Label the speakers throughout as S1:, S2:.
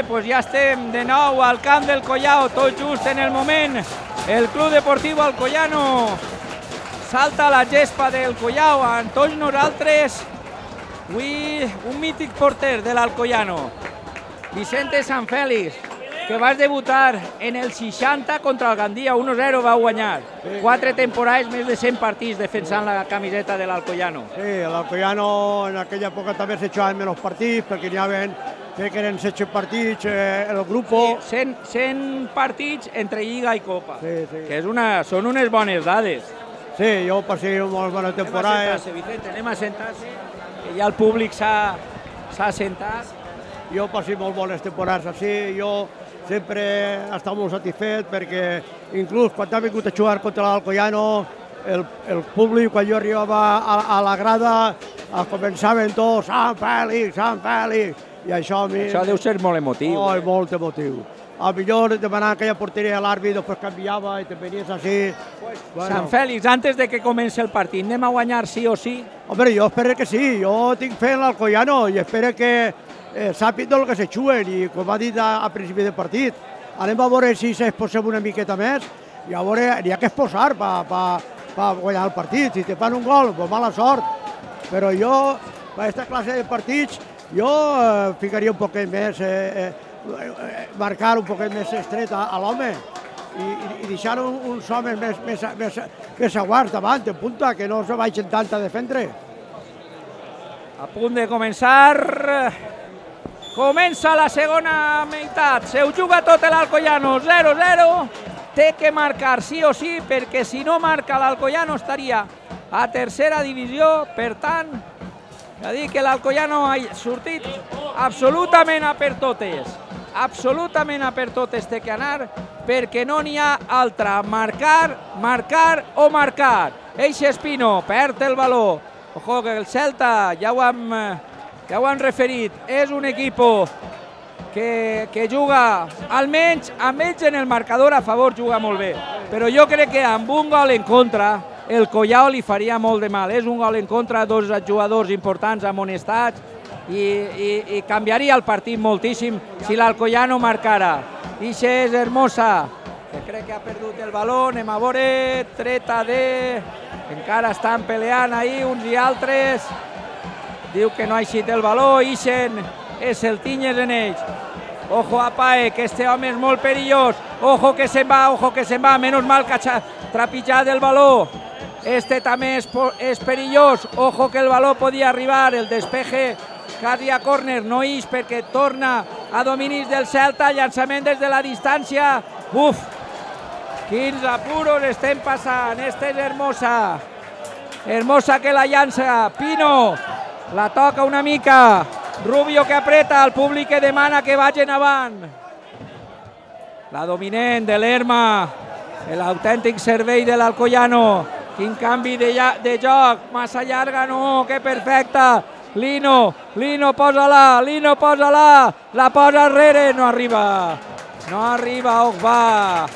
S1: pues ja estem de nou al camp del Collao, tot just en el moment. El Club Deportiu Alcoyano salta a la gespa del Collao amb tots nosaltres. Avui un mític porter de l'Alcoyano, Vicente Sanfélix, que vas debutar en el 60 contra el Gandia, 1-0 va guanyar. 4 temporades, més de 100 partits defensant la camiseta de l'Alcoyano.
S2: Sí, l'Alcoyano en aquella època també s'echaven menys partits, perquè n'hi havia, crec que eren 16 partits el grup.
S1: Sí, 100 partits entre Lliga i Copa,
S2: sí.
S1: que són unes bones dades.
S2: Sí, jo passé molt bona temporada.
S1: Anem a sentar-se, que ja el públic s'ha sentat.
S2: Jo passé molt bones temporades així, jo sempre he estat molt satisfet perquè inclús quan ha vingut a jugar contra l'Alcoyano, el públic, quan jo arribava a la grada, començaven tots, Sant Fèlix, Sant Fèlix, i això a mi...
S1: Això deu ser molt emotiu.
S2: Oh, molt emotiu. A millor demanar aquella porteria a l'àrbit, després canviava i te venies així.
S1: Sant Fèlix, antes de que comenci el partit, anem a guanyar sí o sí?
S2: Home, jo espero que sí, jo tinc fe en l'Alcoyano i espero que sàpiguen el que se juguen i com ha dit a principi del partit, anem a veure si s'exposem una miqueta més i a veure, n'hi ha que exposar per guanyar el partit. Si te fan un gol, pues mala sort, però jo, per aquesta classe de partits, jo ficaria un poquet més, marcar un poquet més estret a l'home i deixar uns homes més aguards davant, en punta, que no se vagin tant a defendre.
S1: A punt de començar... Comença la segona meitat, se ho juga tot l'Alcoyano, 0-0, té que marcar sí o sí, perquè si no marca l'Alcoyano estaria a tercera divisió, per tant, ja dic que l'Alcoyano ha sortit absolutament a per totes té que anar, perquè no n'hi ha altra, marcar o marcar. Eixe Espino perd el valor, ojo que el Celta ja ho han referit, és un equip que juga, almenys amb ells en el marcador a favor juga molt bé, però jo crec que amb un gol en contra el Collao li faria molt de mal. És un gol en contra, dos jugadors importants amonestats i canviaria el partit moltíssim si l'Alcoyano marcara. Ixe és Hermosa, que crec que ha perdut el valor, anem a veure, treta de... Encara estan peleant ahir uns i altres. Diu que no ha eixit el valor, ixen, és el Tinyes en ells. Ojo a Pae, que este home és molt perillós. Ojo que se'n va, menys mal que ha trepitjat el valor. Este també és perillós. Ojo que el valor podia arribar, el despeje quasi a córner, no ix perquè torna a dominis del Celta, llançament des de la distància. Uf, quins apuros estem passant, este és Hermosa. Hermosa que la llança, Pino. La toca una mica, Rubio que apreta, el públic que demana que vagin avant. La dominant de l'Herma, l'autèntic servei de l'Alcoyano. Quin canvi de joc, massa llarga, no, que perfecta. Lino posa-la, la posa arrere, no arriba, va.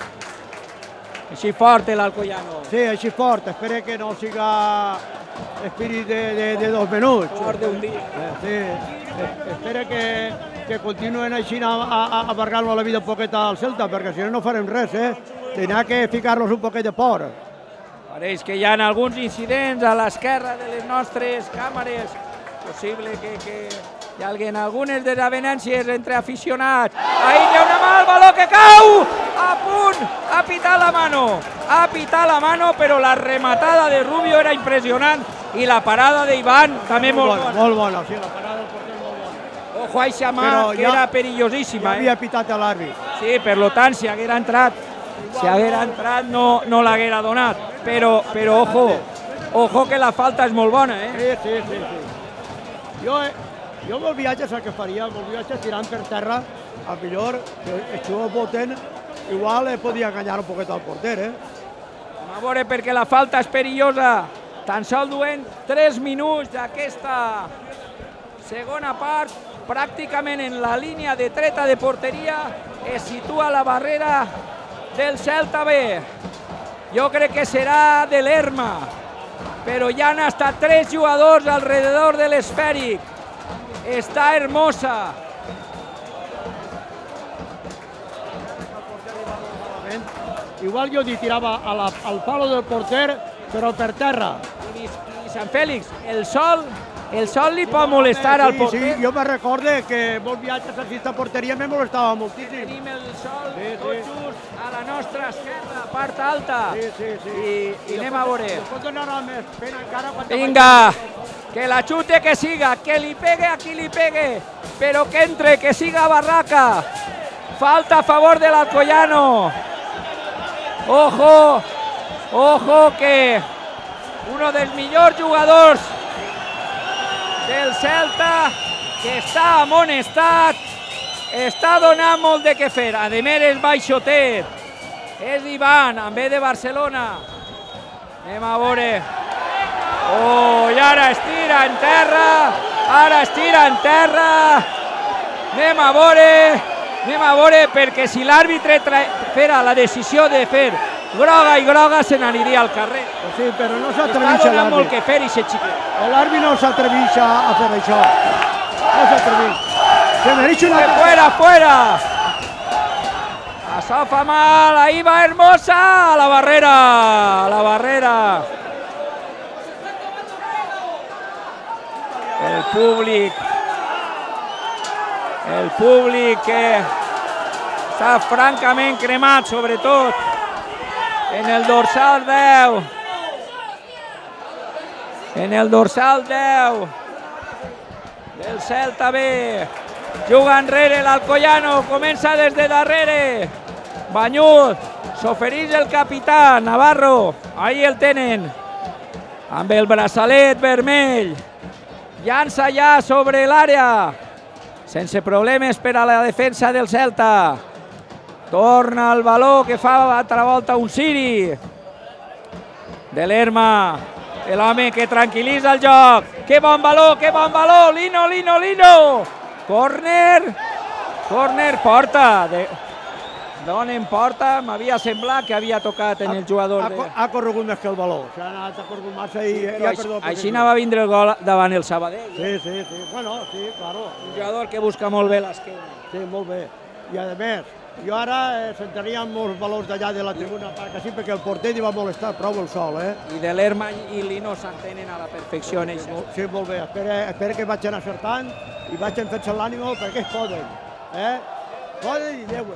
S1: Així fort l'Alcoyano.
S2: Sí, així fort, espero que no siga espírit de 2 minuts.
S1: Fort d'un dia.
S2: Sí, espero que continuen així amargant-nos la vida un poquet al Celta, perquè si no farem res, tindrà que ficar-nos un poquet de por.
S1: Pareix que hi ha alguns incidents a l'esquerra de les nostres càmeres. Possible que hi hagi algunes desavenències entre aficionats. Ahí hi ha una mà, el valor que cau! A punt! Ha pitat la mano, però la rematada de Rubio era impressionant i la parada d'Ivan també molt bona.
S2: Molt bona, sí, la parada del porter molt bona.
S1: Ojo a eixa mà, que era perillosíssima.
S2: Ja havia pitat l'àrbit.
S1: Sí, per tant, si haguera entrat no l'haguera donat. Però ojo que la falta és molt bona,
S2: Sí. Jo amb el viatge el que faria, amb el viatge tirant per terra, a millor, que els jugadors voten, igual podia enganyar un poquet al porter,
S1: A veure, perquè la falta és perillosa. Tan sols duent 3 minuts d'aquesta segona part, pràcticament en la línia de treta de porteria, es situa la barrera del Celta B. Jo crec que serà de l'Herma, però ja han estat 3 jugadors alrededor de l'esfèric. Està Hermosa.
S2: igual jo li tirava al palo del porter, però per terra.
S1: I Sant Fèlix, el sol li pot molestar al porter.
S2: Sí, jo me recorde que molts viatges a aquesta porteria me molestava moltíssim.
S1: Tenim el sol tot just a la nostra esquerra, part alta. I anem a veure.
S2: Pot donar més pena encara.
S1: Vinga, que la xute que siga, que li pegue a qui li pegue, però que entre, que siga Barraca. Falta a favor del Alcoyano. Ojo que uno dels millors jugadors del Celta, que està amonestat, està donant molt de què fer. A més és baixotet, és Ivan, en ve de Barcelona. Anem a veure. I ara estira en terra, anem a veure, perquè si l'àrbitre fera la decisió de fer groga se n'aniria al carrer.
S2: Sí, però no s'atreveix
S1: l'àrbit. Està donant molt que fer i se xiquet.
S2: L'àrbit no s'atreveix a fer això. No s'atreveix. Se mereix una...
S1: Fuera! Això fa mal, ahí va Hermosa, a la barrera. El públic que està francament cremat, sobretot en el dorsal 10. Del Celta B. Juga enrere l'Alcoyano, comença des de darrere. Banyut, s'ofereix el capità, Navarro, ahí el tenen, amb el braçalet vermell. Llança ja sobre l'àrea, sense problemes per a la defensa del Celta. Torna el baló que fa altra volta un Siri. De Lerma, l'home que tranquil·litza el joc. Que bon baló, Lino. Corner, porta. Donen porta, m'havia semblat que havia tocat en el jugador.
S2: Ha corregut més que el baló, s'ha anat a corregut massa i ha perdut.
S1: Així va vindre el gol davant el Sabadell.
S2: Sí, bueno, sí, claro.
S1: Un jugador que busca molt bé l'esquena.
S2: Sí, molt bé. I a més, jo ara sentaria molts valors d'allà de la tribuna, perquè el porter li va molestar prou el sol,
S1: I de l'Erma i Lino s'entenen a la perfecció en això.
S2: Sí, molt bé. Espera que vagin acertant i vagin fent-se l'ànimo perquè es poden. Poden i deuen.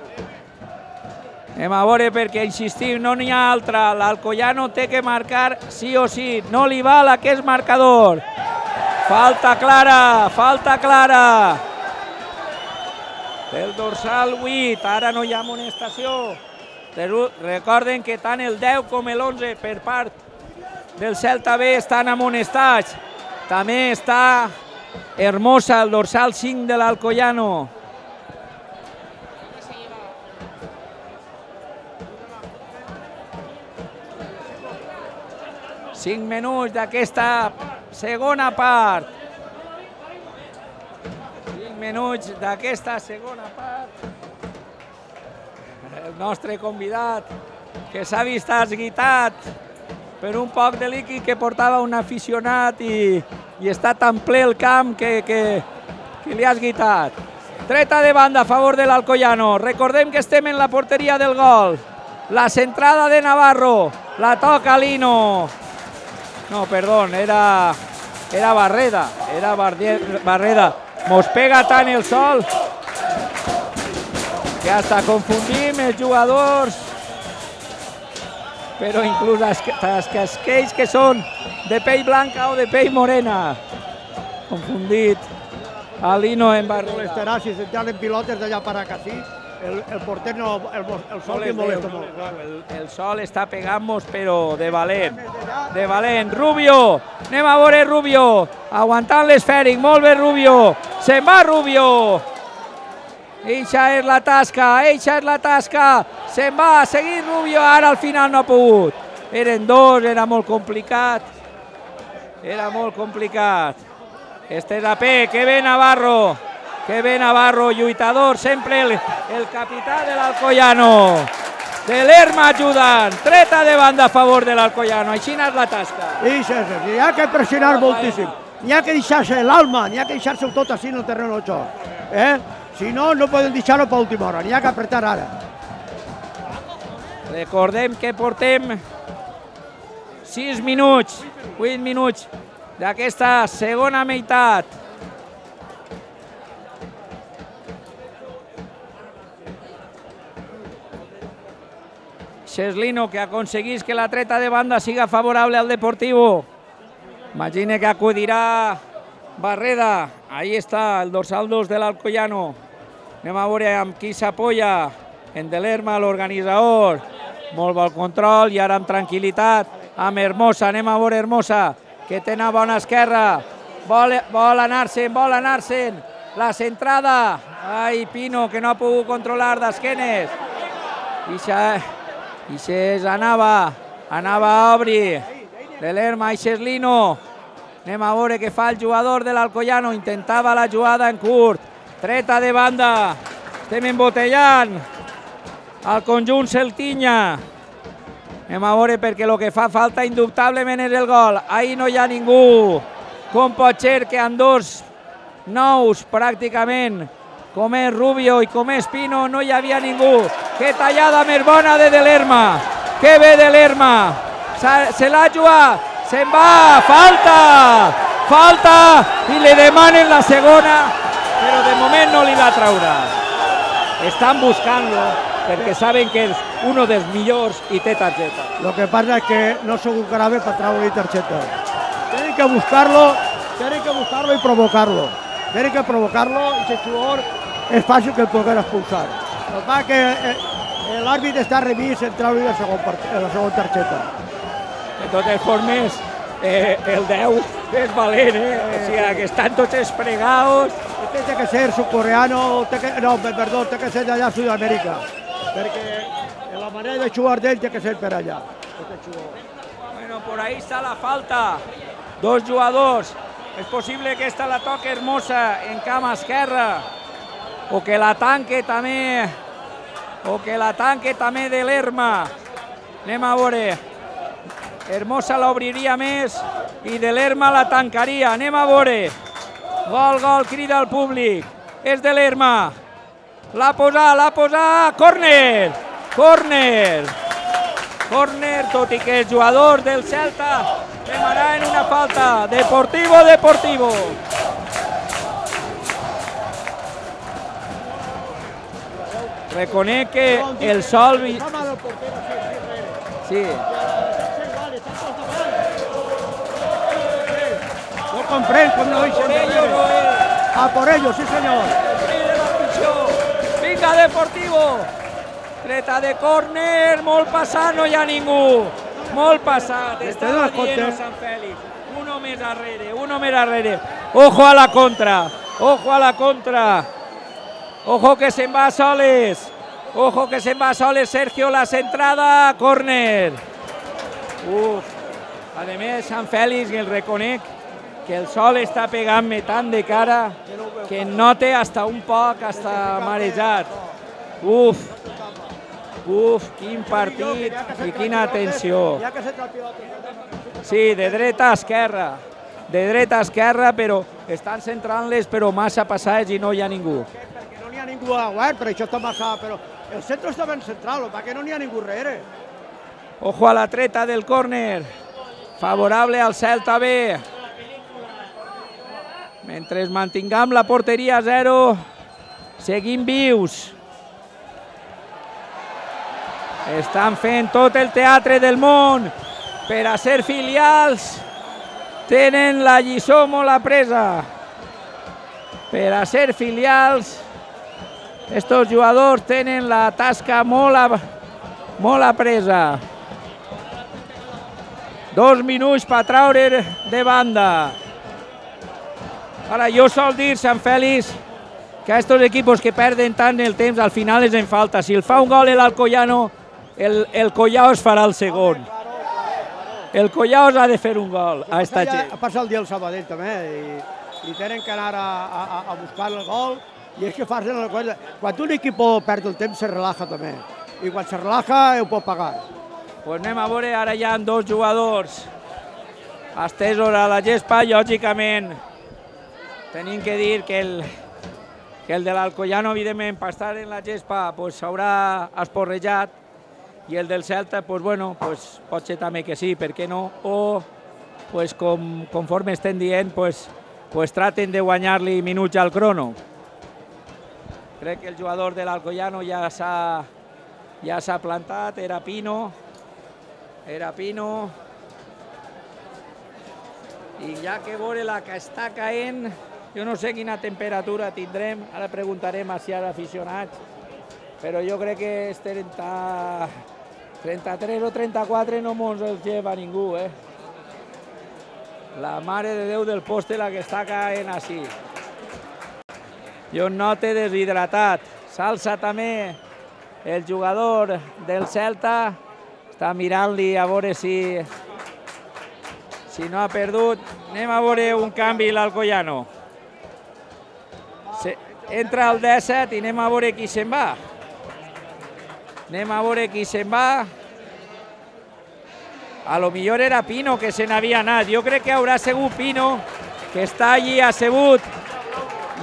S1: Anem a veure perquè, insistim, no n'hi ha altra. L'Alcoyano té que marcar sí o sí. No li val aquest marcador. Falta clara. Del dorsal 8, ara no hi ha amonestació. Recorden que tant el 10 com l'11 per part del Celta B estan amonestats. També està Hermosa, el dorsal 5 de l'Alcoyano. Cinc minuts d'aquesta segona part. El nostre convidat, que s'ha vist esguitat per un poc de líquid que portava un aficionat i està tan ple el camp que li ha esguitat. Treta de banda a favor de l'Alcoyano. Recordem que estem en la porteria del gol. La centrada de Navarro. La toca Lino. No, perdó, era Barreda. Barreda. Mos pega tant el sol que hasta confundim els jugadors, però inclús aquells que són de pell blanca o de pell morena. Confundit a Lino en Barreda.
S2: Molestarà si s'entran pilotes d'allà per acá, sí. El porter no, el sol li molesta molt.
S1: El sol està pegant-nos, però de valent. Rubio, anem a veure Rubio, aguantant l'esfèric, molt bé Rubio, se'n va Rubio. Eixa és la tasca, se'n va, a seguir Rubio, ara al final no ha pogut. Eren dos, era molt complicat. Este és a P, que bé Navarro, lluitador, sempre el capità de l'Alcoyano. De l'Erma ajudant, treta de banda a favor de l'Alcoyano, així és la tasca.
S2: N'hi ha que pressionar moltíssim, n'hi ha que deixar-se l'alma, n'hi ha que deixar-se tot així en el terreny de joc. Si no, no poden deixar-ho per última hora, n'hi ha que apretar ara.
S1: Recordem que portem 6 minuts, 8 minuts d'aquesta segona meitat. Xeslino, que aconseguís que la treta de banda siga favorable al Deportivo. Imagine que acudirà Barreda. Ahí està el dorsal 2 de l'Alcoyano. Anem a veure amb qui s'apoya. En Delerma, l'organitzador. Molt bon control i ara amb tranquil·litat amb Hermosa. Anem a veure Hermosa, que té una bona esquerra. Vol anar-se'n. La centrada. Ai, Pino, que no ha pogut controlar d'esquenes. I anava a obrir. Delerma i Xeslino. Anem a veure què fa el jugador de l'Alcoyano. Intentava la jugada en curt. Treta de banda. Estem embotellant el conjunt celtinya. Anem a veure perquè el que fa falta indubtablement és el gol. Ahí no hi ha ningú. Com pot ser que amb dos nous pràcticament, com és Rubio i com és Pino, no hi havia ningú? Que tallada més bona de Delerma. Que bé Delerma. Se l'ha jugat. Se'n va. Falta. I li demanen la segona, però de moment no li va traure. Estan buscant-lo perquè saben que és un dels millors i té targeta.
S2: Lo que pasa es que no son un grave para traer tarjeta. Tienen que buscarlo y provocarlo. Tienen que provocarlo y ese jugador es fácil que el pueda expulsar. Lo que pasa es que el árbitro está revís en traure la segona targeta.
S1: De totes formes, el 10 és valent, o sigui que estan tots espregados.
S2: Té que ser sudcoreano, té que ser d'allà a Sud-amèrica, perquè la manera de jugar d'ell té que ser per allà.
S1: Bueno, por ahí está la falta. Dos jugadors. És possible que esta la toque Hermosa en cama esquerra, o que la tanque també de l'Herma. Anem a veure. Hermosa l'obriria més i de l'Herma la tancaria. Anem a veure. Gol, crida al públic. És de l'Herma. L'ha posat. Córner, tot i que el jugador del Celta demanarà en una falta. Deportivo. Reconec que el sol... Sí.
S2: No comprèn com no deixen de veure. A por ellos, sí senyor.
S1: Vinga, Deportivo. Treta de córner, molt passat, no hi ha ningú. Molt passat, estava dient Sant Fèlix. Uno més darrere. Ojo a la contra. Ojo que se'n va soles. Sergio, la centrada, córner. A més, Sant Fèlix, el reconec, que el sol està pegant-me tant de cara que note hasta un poc, hasta marejat. Quin partit i quina tensió. Sí, de dreta a esquerra, però estan centrant-les, però massa passats i no hi ha ningú.
S2: Perquè no n'hi ha ningú a guard, per això està massa, però el centre està ben central, perquè no n'hi ha ningú darrere.
S1: Ojo a la treta del córner, favorable al Celta B. Mentre mantinguem la porteria a 0, seguim vius. Estan fent tot el teatre del món per a ser filials. Tenen la lliçó molt apresa. Per a ser filials, estos jugadors tenen la tasca molt apresa. 2 minuts per traure de banda. Ara, jo sol dir, Sant Fèlix, que a estos equipos que perden tant el temps, al final és en falta. Si el fa un gol l'Alcoyano, el Collao es farà el segon. El Collao ha de fer un gol a esta gent.
S2: Passa el dia al Sabadell també, i tenen que anar a buscar el gol, i és que fan una cosa. Quan un equip perd el temps, se relaja també, i quan se relaja ho pot pagar.
S1: Pues anem a veure, ara hi ha 2 jugadors estesos a la gespa, lògicament. Tenim que dir que el de l'Alcoyano, evidentment, per estar en la gespa, s'haurà esporrejat i el del Celta, pues, bueno, pues, pot ser també que sí, per què no? O, pues, conforme estem dient, pues, traten de guanyar-li minuts al crono. Crec que el jugador de l'Alcoyano ja s'ha plantat, era Pino, i ja que veure la que està caent, jo no sé quina temperatura tindrem, ara preguntarem si hi ha aficionats, però jo crec que és 33 o 34 no mos els lleva ningú, La mare de Déu del poste la que està caent així. Jo note deshidratat. S'alça també el jugador del Celta. Està mirant-li a veure si no ha perdut. Anem a veure un canvi l'Alcoyano. Entra el 17 i anem a veure qui se'n va. A lo millor era Pino que se n'havia anat. Jo crec que haurà sigut Pino, que està allí assegut,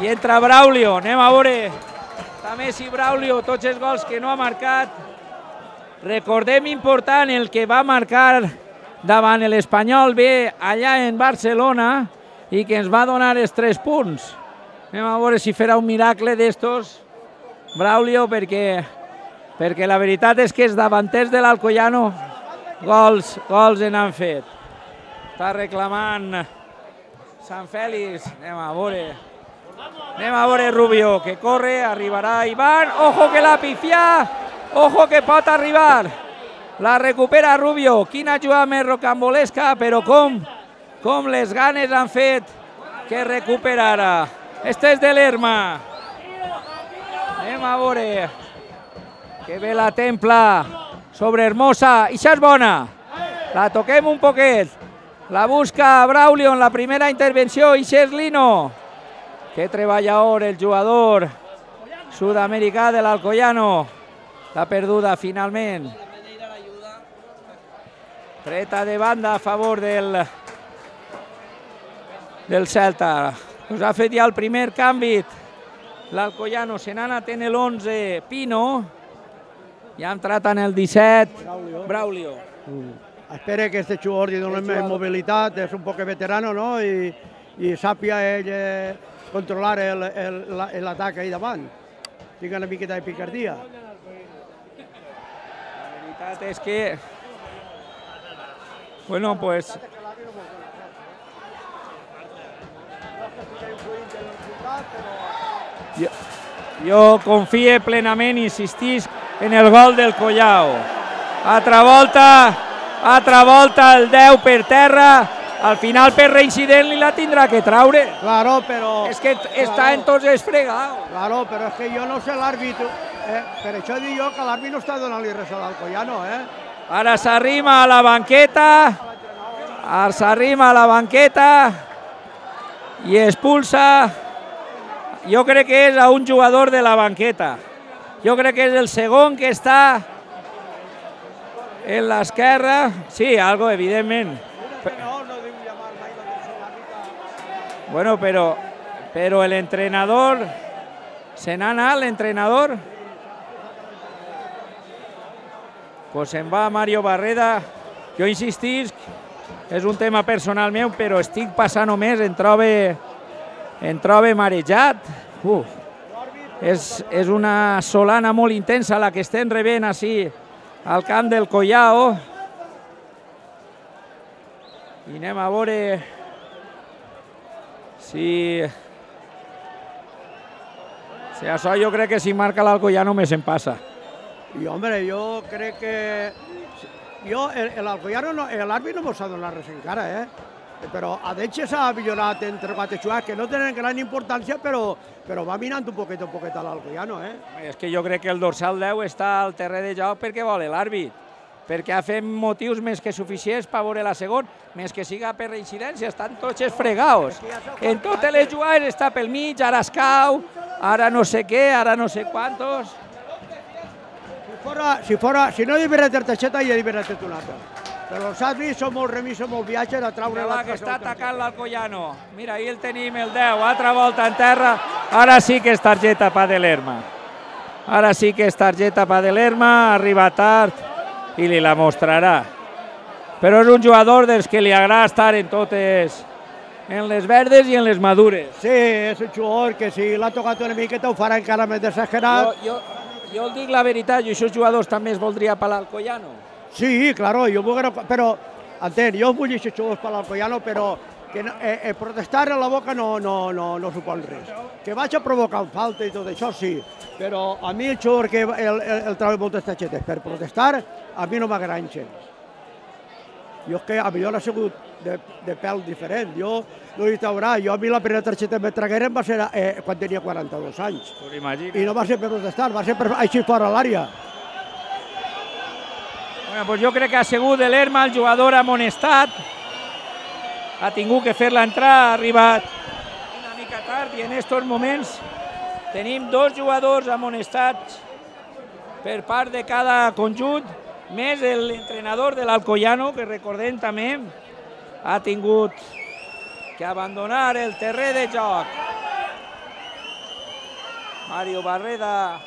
S1: i entra Braulio. Anem a veure també si Braulio, tots els gols que no ha marcat. Recordem important el que va marcar davant l'Espanyol B allà en Barcelona i que ens va donar els 3 punts. Anem a veure si farà un miracle d'estos Braulio, perquè la veritat és que els davanters de l'Alcoyano gols en han fet. Està reclamant Sant Fèlix. Anem a veure Rubio, que corre, arribarà Iván. Ojo que l'ha pifiat, ojo que pot arribar. La recupera Rubio. Quina jugada més rocambolesca, però com les ganes han fet que recuperara. Este és de l'Herma. Anem a veure. Que bé la templa sobre Hermosa. I això és bona. La toquem un poquet. La busca Braulio en la primera intervenció. I això és Lino. Que treballador el jugador sud-americà de l'Alcoyano. L'ha perduda finalment. Treta de banda a favor del Celta. Pues ha fet ja el primer canvi. L'Alcoyano se n'ha anat en l'11 Pino. I ha entrat en el 17 Braulio.
S2: Espera que este jugador li doni més mobilitat, és un poc veterano, no? I sàpia ell controlar l'atac ahí davant. Tinga una miqueta de picardia.
S1: La veritat és que... Bueno, pues... Jo confie plenament, insistisc, en el gol del Collao. Altra volta el 10 per terra, al final per reincident li la tindrà que traure.
S2: Claro, però...
S1: És que està en tots els fregados.
S2: Claro, però és que jo no sé l'àrbit. Per això dic jo que l'àrbit no està donant-li res a l'Alcoyano,
S1: Ara s'arrima a la banqueta, i expulsa. Jo crec que és a un jugador de la banqueta. Jo crec que és el segon que està en l'esquerra. Sí, algo, evidentment. Bueno, però l'entrenador... Se n'ha anat l'entrenador? Pues se'n va Mario Barreda. Jo insistisc, és un tema personal meu, però estic passant només, em trobe marejat. És una solana molt intensa la que estem rebent així al camp del Collao. I anem a veure si això jo crec que si marca l'Alcoyano més se'n passa.
S2: I, home, jo crec que... L'Alcoyano, l'àrbit no mos ha donat res encara, però a d'ells s'ha millorat entre 4 jugades que no tenen gran importància, però va minant un poquet a l'Alcoyano,
S1: És que jo crec que el dorsal 10 està al terreny de joc perquè vol l'àrbit, perquè ha fet motius més que suficients per veure la segona, més que siga per reincidència, estan tots fregados. En totes les jugades està pel mig, ara es cau, ara no sé què, ara no sé quantos.
S2: Si no divertit el Teixeta, ja divertit un altre. Però els àrbits són molt remisos, molt viatges a traure
S1: l'altre. Que està atacant l'Alcoyano. Mira, ahí el tenim, el 10, altra volta en terra. Ara sí que és targeta per de l'Herma. Arriba tard i li la mostrarà. Però és un jugador dels que li agrada estar en totes, en les verdes i en les madures.
S2: Sí, és un jugador que si l'ha tocat una miqueta ho farà encara més desesperat.
S1: Jo dic la veritat, i aquests jugadors també es voldria per l'Alcoyano.
S2: Sí, claro, però, entén, jo vull aquests jugadors per l'Alcoyano, però que protestar a la boca no supon res. Que vaig a provocar falta i tot això, sí, però a mi el jugador que el trobo moltes targetes per protestar, a mi no m'agraden gens. Jo és que a millor ha sigut de pèl diferent. Jo no hi traurà. Jo a mi la primera targeta que me tragueren va ser quan tenia 42 anys. I no va ser per protestar, va ser per així fora l'àrea.
S1: Bueno, pues jo crec que ha sigut de l'Erma el jugador amonestat. Ha tingut que fer-la entrar, ha arribat una mica tard i en aquests moments tenim 2 jugadors amonestats per part de cada conjunt, més l'entrenador de l'Alcoyano, que recordem també, ha tingut que abandonar el terreny de joc. Mario Barreda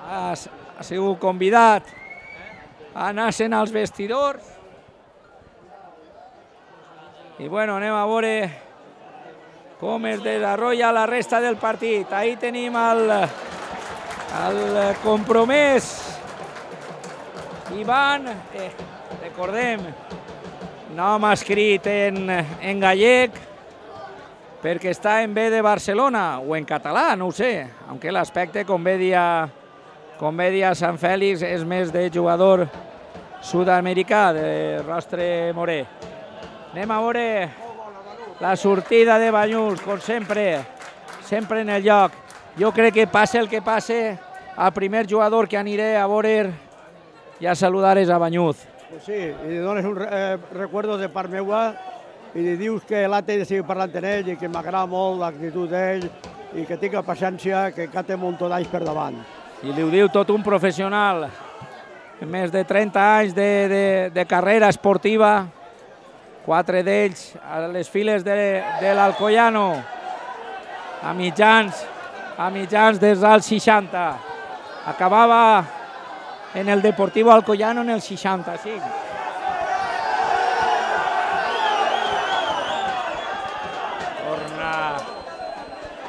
S1: ha sigut convidat a anar-se'n als vestidors. I bueno, anem a veure com es desenvolupa la resta del partit. Ahí tenim el compromès Ivan, recordem, nom escrit en gallec perquè està en B de Barcelona o en català, no ho sé, aunque l'aspecte, com bé dia Sant Fèlix, és més de jugador sud-americà, de rostre morè. Anem a veure la sortida de Banyuls, com sempre en el lloc. Jo crec que passe el que passe, el primer jugador que aniré a veure i a saludar és a Banyuz.
S2: Sí, i li dones un recuerdo de part meua i li dius que l'Ate de seguir parlant amb ell i que m'agrada molt l'actitud d'ell i que tinga paciència, que encara té un munt d'anys per davant.
S1: I li ho diu tot un professional, més de 30 anys de carrera esportiva, 4 d'ells a les files de l'Alcoyano, a mitjans des dels 60. Acabava en el Deportivo Alcoyano en el 65.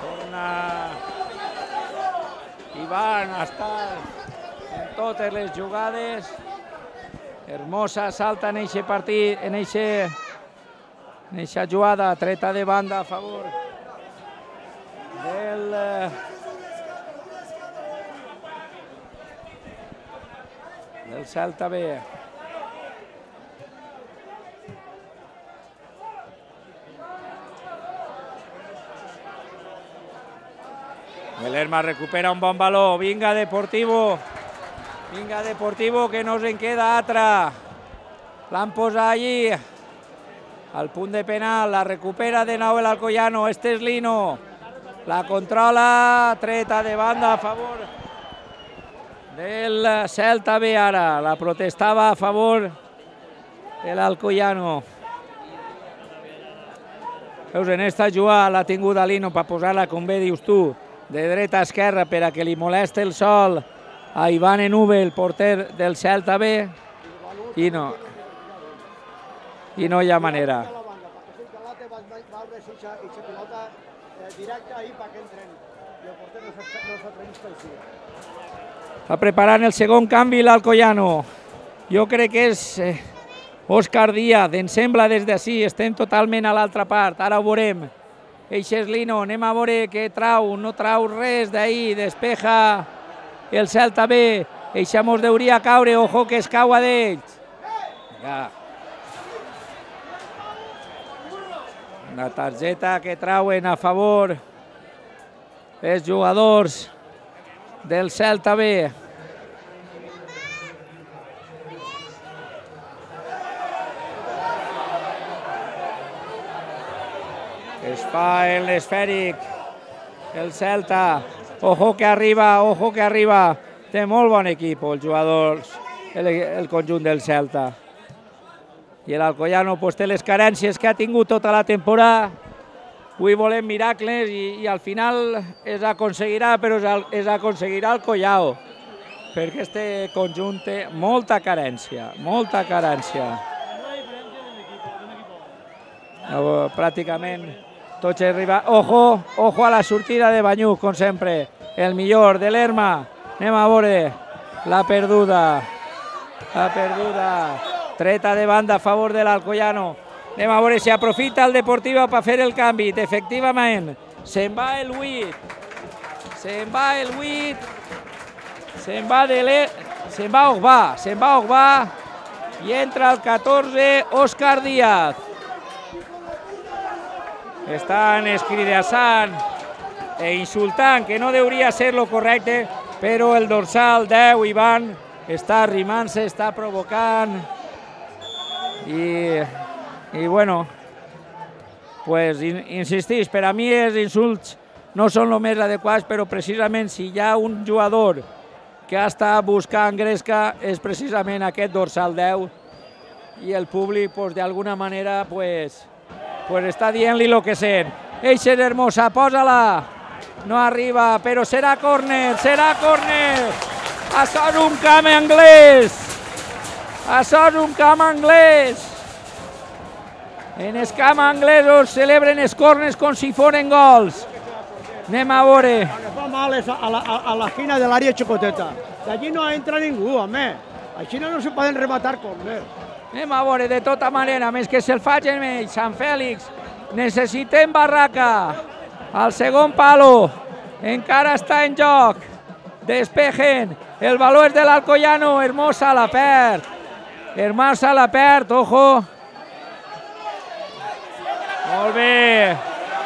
S1: Torna Ivan a estar en totes les jugades. Hermosa salta en aquest partit, en aquesta jugada, treta de banda a favor del Celta B. Lerma recupera un bon baló, vinga Deportivo que no se'n queda altra. L'han posat allí al punt de penal, la recupera de nou l'Alcoyano, este és Lino, la controla, treta de banda a favor del Celta B ara, la protestava a favor de l'Alcoyano. Veus, en esta jugada l'ha tingut a Lino per posar-la, com bé dius tu, de dreta a esquerra per a que li moleste el sol a Ivan Enuve, el porter del Celta B, i no hi ha manera. Està preparant el segon canvi l'Alcoyano. Jo crec que és Òscar Díaz, em sembla des d'ací, estem totalment a l'altra part, ara ho veurem. Eixe és Lino, anem a veure què trau, no trau res d'ahir, despeja el Celta B, eixa mos deuria caure, ojo que es caua d'ells. Una targeta que trauen a favor els jugadors del Celta B. Es fa en l'esfèric el Celta. Ojo que arriba. Té molt bon equip els jugadors, el conjunt del Celta. I l'Alcoyano té les carències que ha tingut tota la temporada. Avui volem miracles i al final es aconseguirà, però es aconseguirà el Collao. perquè este conjunt té molta carència, molta carència. Pràcticament tots arriben. Ojo a la sortida de Banyuls, com sempre. El millor de l'Erma. Anem a veure la perduda. La perduda. Treta de banda a favor de l'Alcoyano. Anem a veure si aprofita el Deportiva per fer el canvi. Efectivament, se'n va el 8. Se'n va el 8. Se'n va Ogbà. I entra el 14, Òscar Díaz. Estan escridassant e insultant, que no hauria ser lo correcte, però el dorsal 10, Ivan, està arrimant-se, està provocant. I bueno, pues insistís, per a mi els insults no són els més adequats, però precisament si hi ha un jugador que ha estat buscant gresca és precisament aquest dorsal 10 i el públic, pues, d'alguna manera, pues està dient-li el que sent. Eixer Hermosa, posa-la. No arriba, però serà córner, serà córner. Això és un camp anglès. Això és un camp anglès. En el camp anglès es celebren els córners com si foren gols. Anem a veure.
S2: El que fa mal és a l'esquina de l'àrea xicoteta. D'allí no entra ningú, home. Així no se poden rematar córners.
S1: Anem a veure, de tota manera, més que se'l facin ells, Sant Fèlix, necessitem barraca. Al segon palo, encara està en joc. Despejen, el valor és de l'Alcoyano, Hermosa la perd. Hermosa la perd, ojo.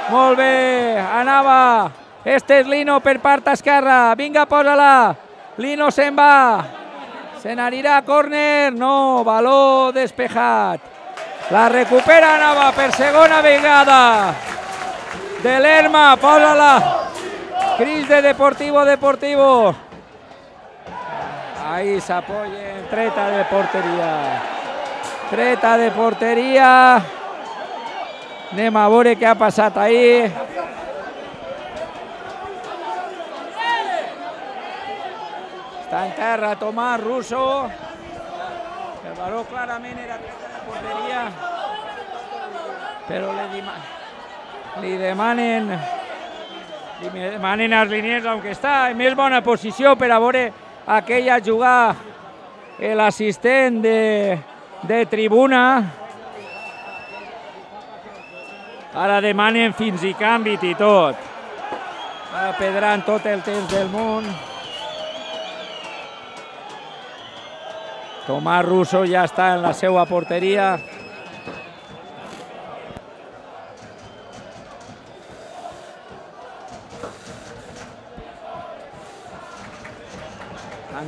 S1: Molt bé, anava. Este és Lino per part esquerra, vinga, posa-la. Lino se'n va. Se n'anirà a córner, no, valor despejat. La recupera Nava per segona vegada. De l'Erma, posa-la. Cris de Deportivo. Ahí s'apoyen, treta de porteria. Treta de porteria. Anem a veure què ha passat ahí. Està en terra Tomàs Russo. El valor clarament era treta de porteria. Però li demanen als liniers, aunque està en més bona posició per a veure aquella jugada l'assistent de tribuna. Ara demanen fins i canvi i tot. Ara perdran tot el temps del món. Tomàs Russo ja està en la seva porteria.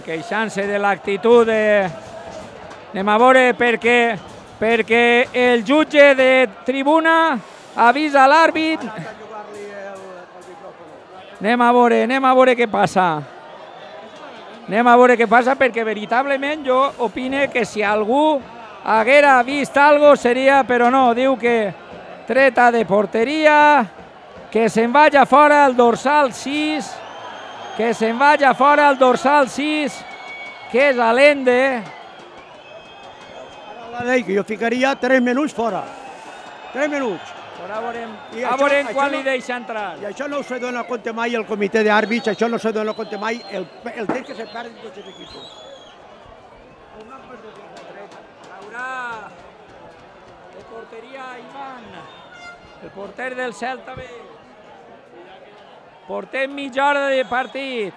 S1: Queixant-se de l'actitud anem a veure perquè el jutge de tribuna avisa l'àrbit. Anem a veure què passa. Anem a veure què passa perquè veritablement jo opine que si algú haguera vist alguna cosa seria, però no, diu que treta de porteria, que se'n vagi fora el dorsal 6, que se'n vagi fora el dorsal 6, que és Allende.
S2: La llei que jo ficaria 3 minuts fora. 3 minuts.
S1: A veure quan li deixa entrar.
S2: I això no se dona compte mai el comitè d'àrbits, això no se dona compte mai el temps que se perd tots els equips.
S1: Haurà de porteria Ivan, el porter del Celta B. Portem mitja hora de partit.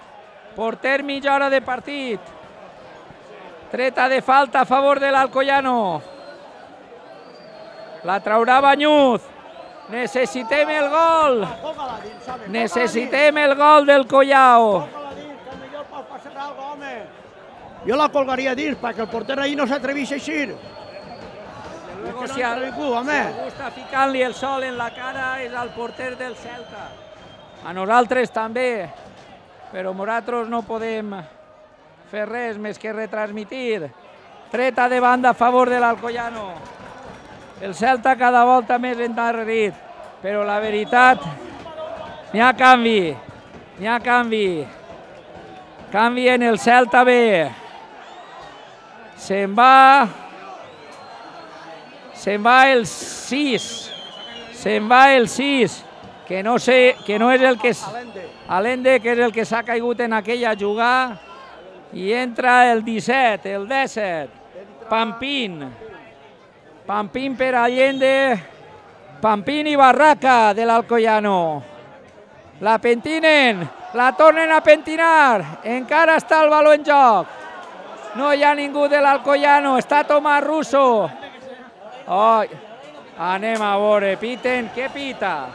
S1: Treta de falta a favor de l'Alcoyano. La traurà Banyuls. Necessitem el gol. Necessitem el gol del Collao.
S2: Jo la colgaria dins perquè el porter ahir no s'atrevís a eixir.
S1: Si algú està ficant-li el sol en la cara és el porter del Celta. A nosaltres també, però nosaltres no podem fer res més que retransmitir. Treta de banda a favor de l'Alcoyano. El Celta cada volta més endarrerit, però la veritat, n'hi ha canvi. Canvi en el Celta B. Se'n va el 6. Se'n va el 6. Que no sé, que no és el que és... Allende, que és el que s'ha caigut en aquella jugada. I entra el 17, el 17. Pampín. Pampín per Allende. Pampín i Barraca de l'Alcoyano. La pentinen, la tornen a pentinar. Encara està el baló en joc. No hi ha ningú de l'Alcoyano, està Tomàs Russo. Oh, anem a veure, piten, què pita?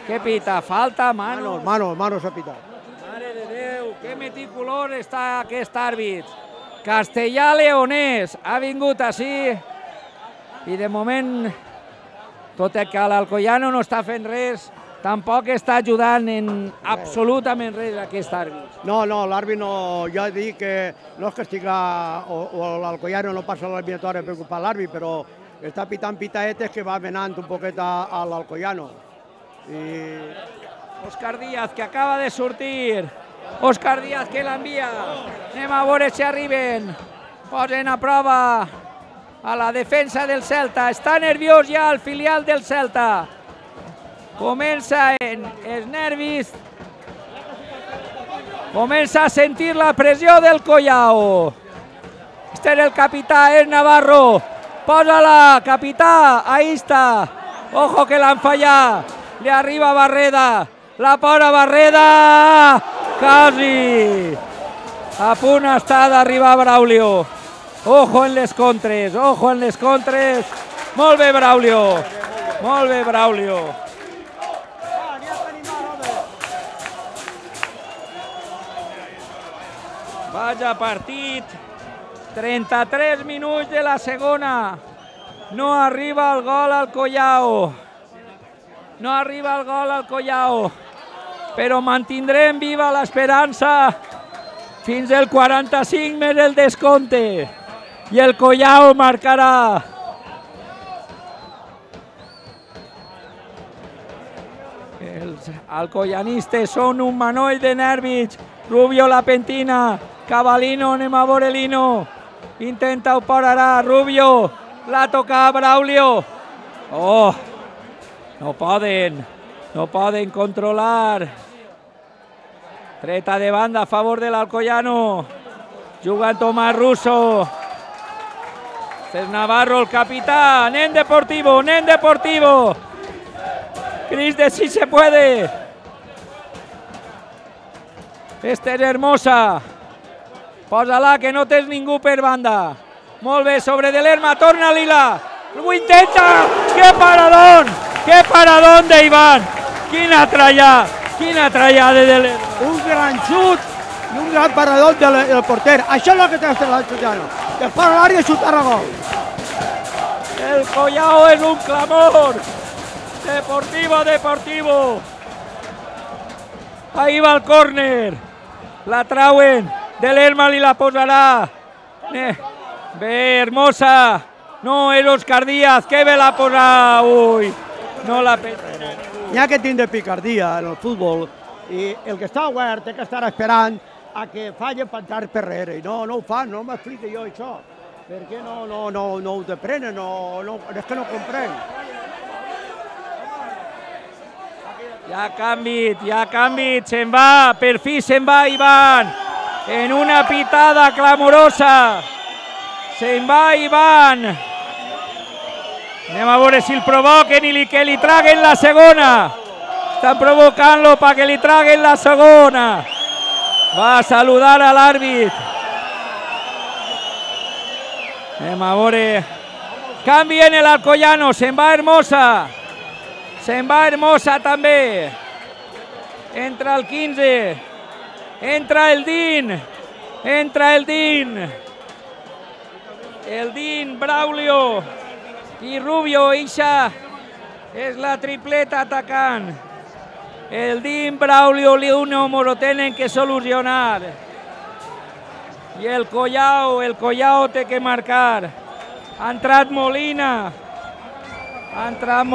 S1: Què pita? Falta, manos?
S2: Manos ha pitat.
S1: Mare de Déu, que meticulós està aquest àrbit. Castellà Leonès ha vingut així i de moment, tot i que l'Alcoyano no està fent res, tampoc està ajudant en absolutament res aquest àrbit.
S2: No, l'àrbit no, jo dic que no és que estiga, o l'Alcoyano no passa l'eliminatòria per culpa l'àrbit, però està pitant pitaetes que va menant un poquet a l'Alcoyano.
S1: Òscar Díaz, que acaba de sortir. Òscar Díaz, que l'envia. Anem a veure si arriben. Posen a prova a la defensa del Celta. Està nerviós ja el filial del Celta. Comença en els nervis. Comença a sentir la pressió del Collao. Este és el capità, és Navarro. Posa-la, capità, ahí està. Ojo que l'han fallat. Li arriba Barreda. La posa Barreda. Quasi. A punt està d'arribar Braulio. Ojo en les contres, ojo en les contres. Molt bé, Braulio. Molt bé, Braulio. Vaja partit. 33 minuts de la segona. No arriba el gol al Collao. No arriba el gol al Collao. Però mantindrem viva l'esperança fins el 45 més el descompte. I el Collao marcarà. Els alcoyanistes són un manoll de nervis. Rubio la pentina. Cavallino, anem a veure Lino. Intenta operar Rubio. La toca Braulio. Oh, no poden controlar. Treta de banda a favor de l'Alcoyano. Juga Tomàs Russo. Este és Navarro, el capità. Nen deportivo, nen deportivo. Cris de si se puede. Este és Hermosa. Posa-la, que no tens ningú per banda. Molt bé, sobre de l'Herma, torna Lila. Ho intenta. Que paradón d'Ivan. Quina trallada de l'Herma.
S2: Un gran xut i un gran parador del porter. Això és el que té l'Alcoyano. Que fa l'àrea i xutar a gol.
S1: El Collao és un clamor. Deportivo. Ahí va el córner. La trauen. De l'Herma li la posarà. Bé, Hermosa. No, és Òscar Díaz. Que bé la posarà. Ui, no la pensa.
S2: N'hi ha que tindre picardia en el futbol i el que està obert té que estar esperant a que falle per entrar per darrere. I no ho fan, no m'explico jo això. Per què no ho deprenen? És que no comprenc.
S1: Ja ha canviat, se'n va, per fi se'n va Ivan, en una pitada clamorosa, se'n va Ivan. Anem a veure si el provoquen i que li traguen la segona. Estan provocant-lo perquè li traguen la segona. Va a saludar a l'àrbit. Anem a veure. Canvi en l'Alcoyano, se'n va Hermosa. Se'n va Hermosa també. Entra el 15. Entra el Din. El Din, Braulio i Rubio. Eixa és la tripleta atacant. El Din, Braulio i Lino m'ho tenen que solucionar. I el Collao té que marcar. Ha entrat Molina. Ha entrat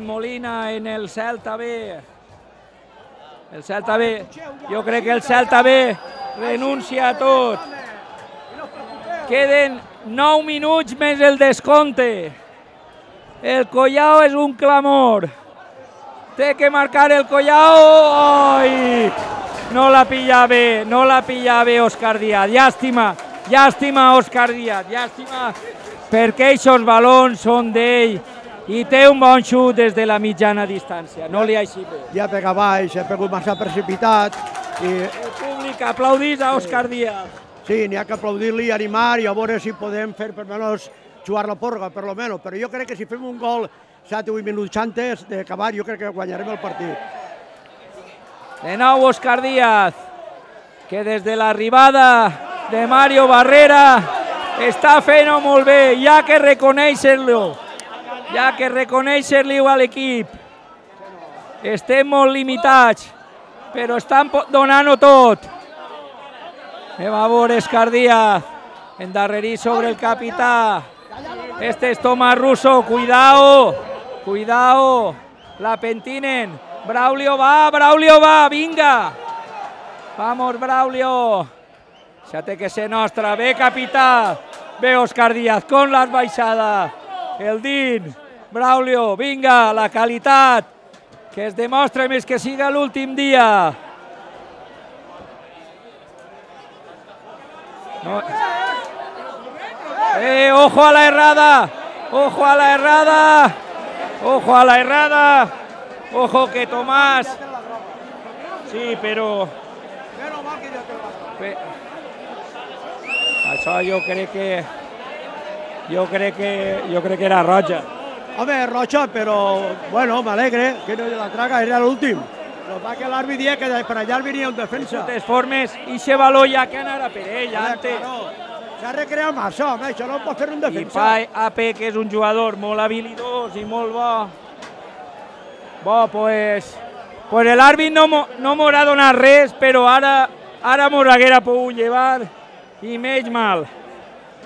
S1: Molina en el Celta B. El Celta B, jo crec que el Celta B renuncia a tot. Queden 9 minuts més el descompte. El Collao és un clamor. Té que marcar el Collao. Ai! No la pilla bé Òscar Díaz. Llàstima Òscar Díaz, llàstima, perquè aquests balons són d'ell i té un bon xut des de la mitjana distància. No li ha així bé.
S2: Ja pega baix, ha pegut massa precipitat.
S1: El públic aplaudís a Òscar Díaz.
S2: Sí, n'hi ha que aplaudir-li i animar i a veure si podem fer per menys jugar la porga, per lo menos. Però jo crec que si fem un gol 7 o 8 minuts antes d'acabar, jo crec que guanyarem el partit.
S1: De nou Òscar Díaz, que des de l'arribada de Mario Barrera està fent-ho molt bé, hi ha que reconèixer-lo. Hi ha que reconèixer-li a l'equip. Estem molt limitats, però estan donant-ho tot. Anem a veure Òscar Díaz, endarrerit sobre el capità. Este és Tomás Russo, cuidao, la pentinen. Braulio va, vinga. Vamos, Braulio. Això té que ser nostra. Bé, capità. Bé, Òscar Díaz, con las baixadas. El Din, Braulio, vinga, la qualitat. Que es demostra més que siga l'últim dia. No. Ojo a la errada. Ojo que Tomás. Sí, però... Això jo crec que era roja.
S2: Home, roja, però, bueno, m'alegre que no la traga, era l'últim. Lo que l'àrbit dia que per allà venia un defensa.
S1: De totes formes, ixe baló ja que anara per ell, antes.
S2: S'ha recreat massa, home, això no pot fer un defensa.
S1: I Pai AP, que és un jugador molt habilidós i molt bo. Pues l'àrbit no m'haurà donat res, però ara m'ho haguera pogut llevar i menys mal.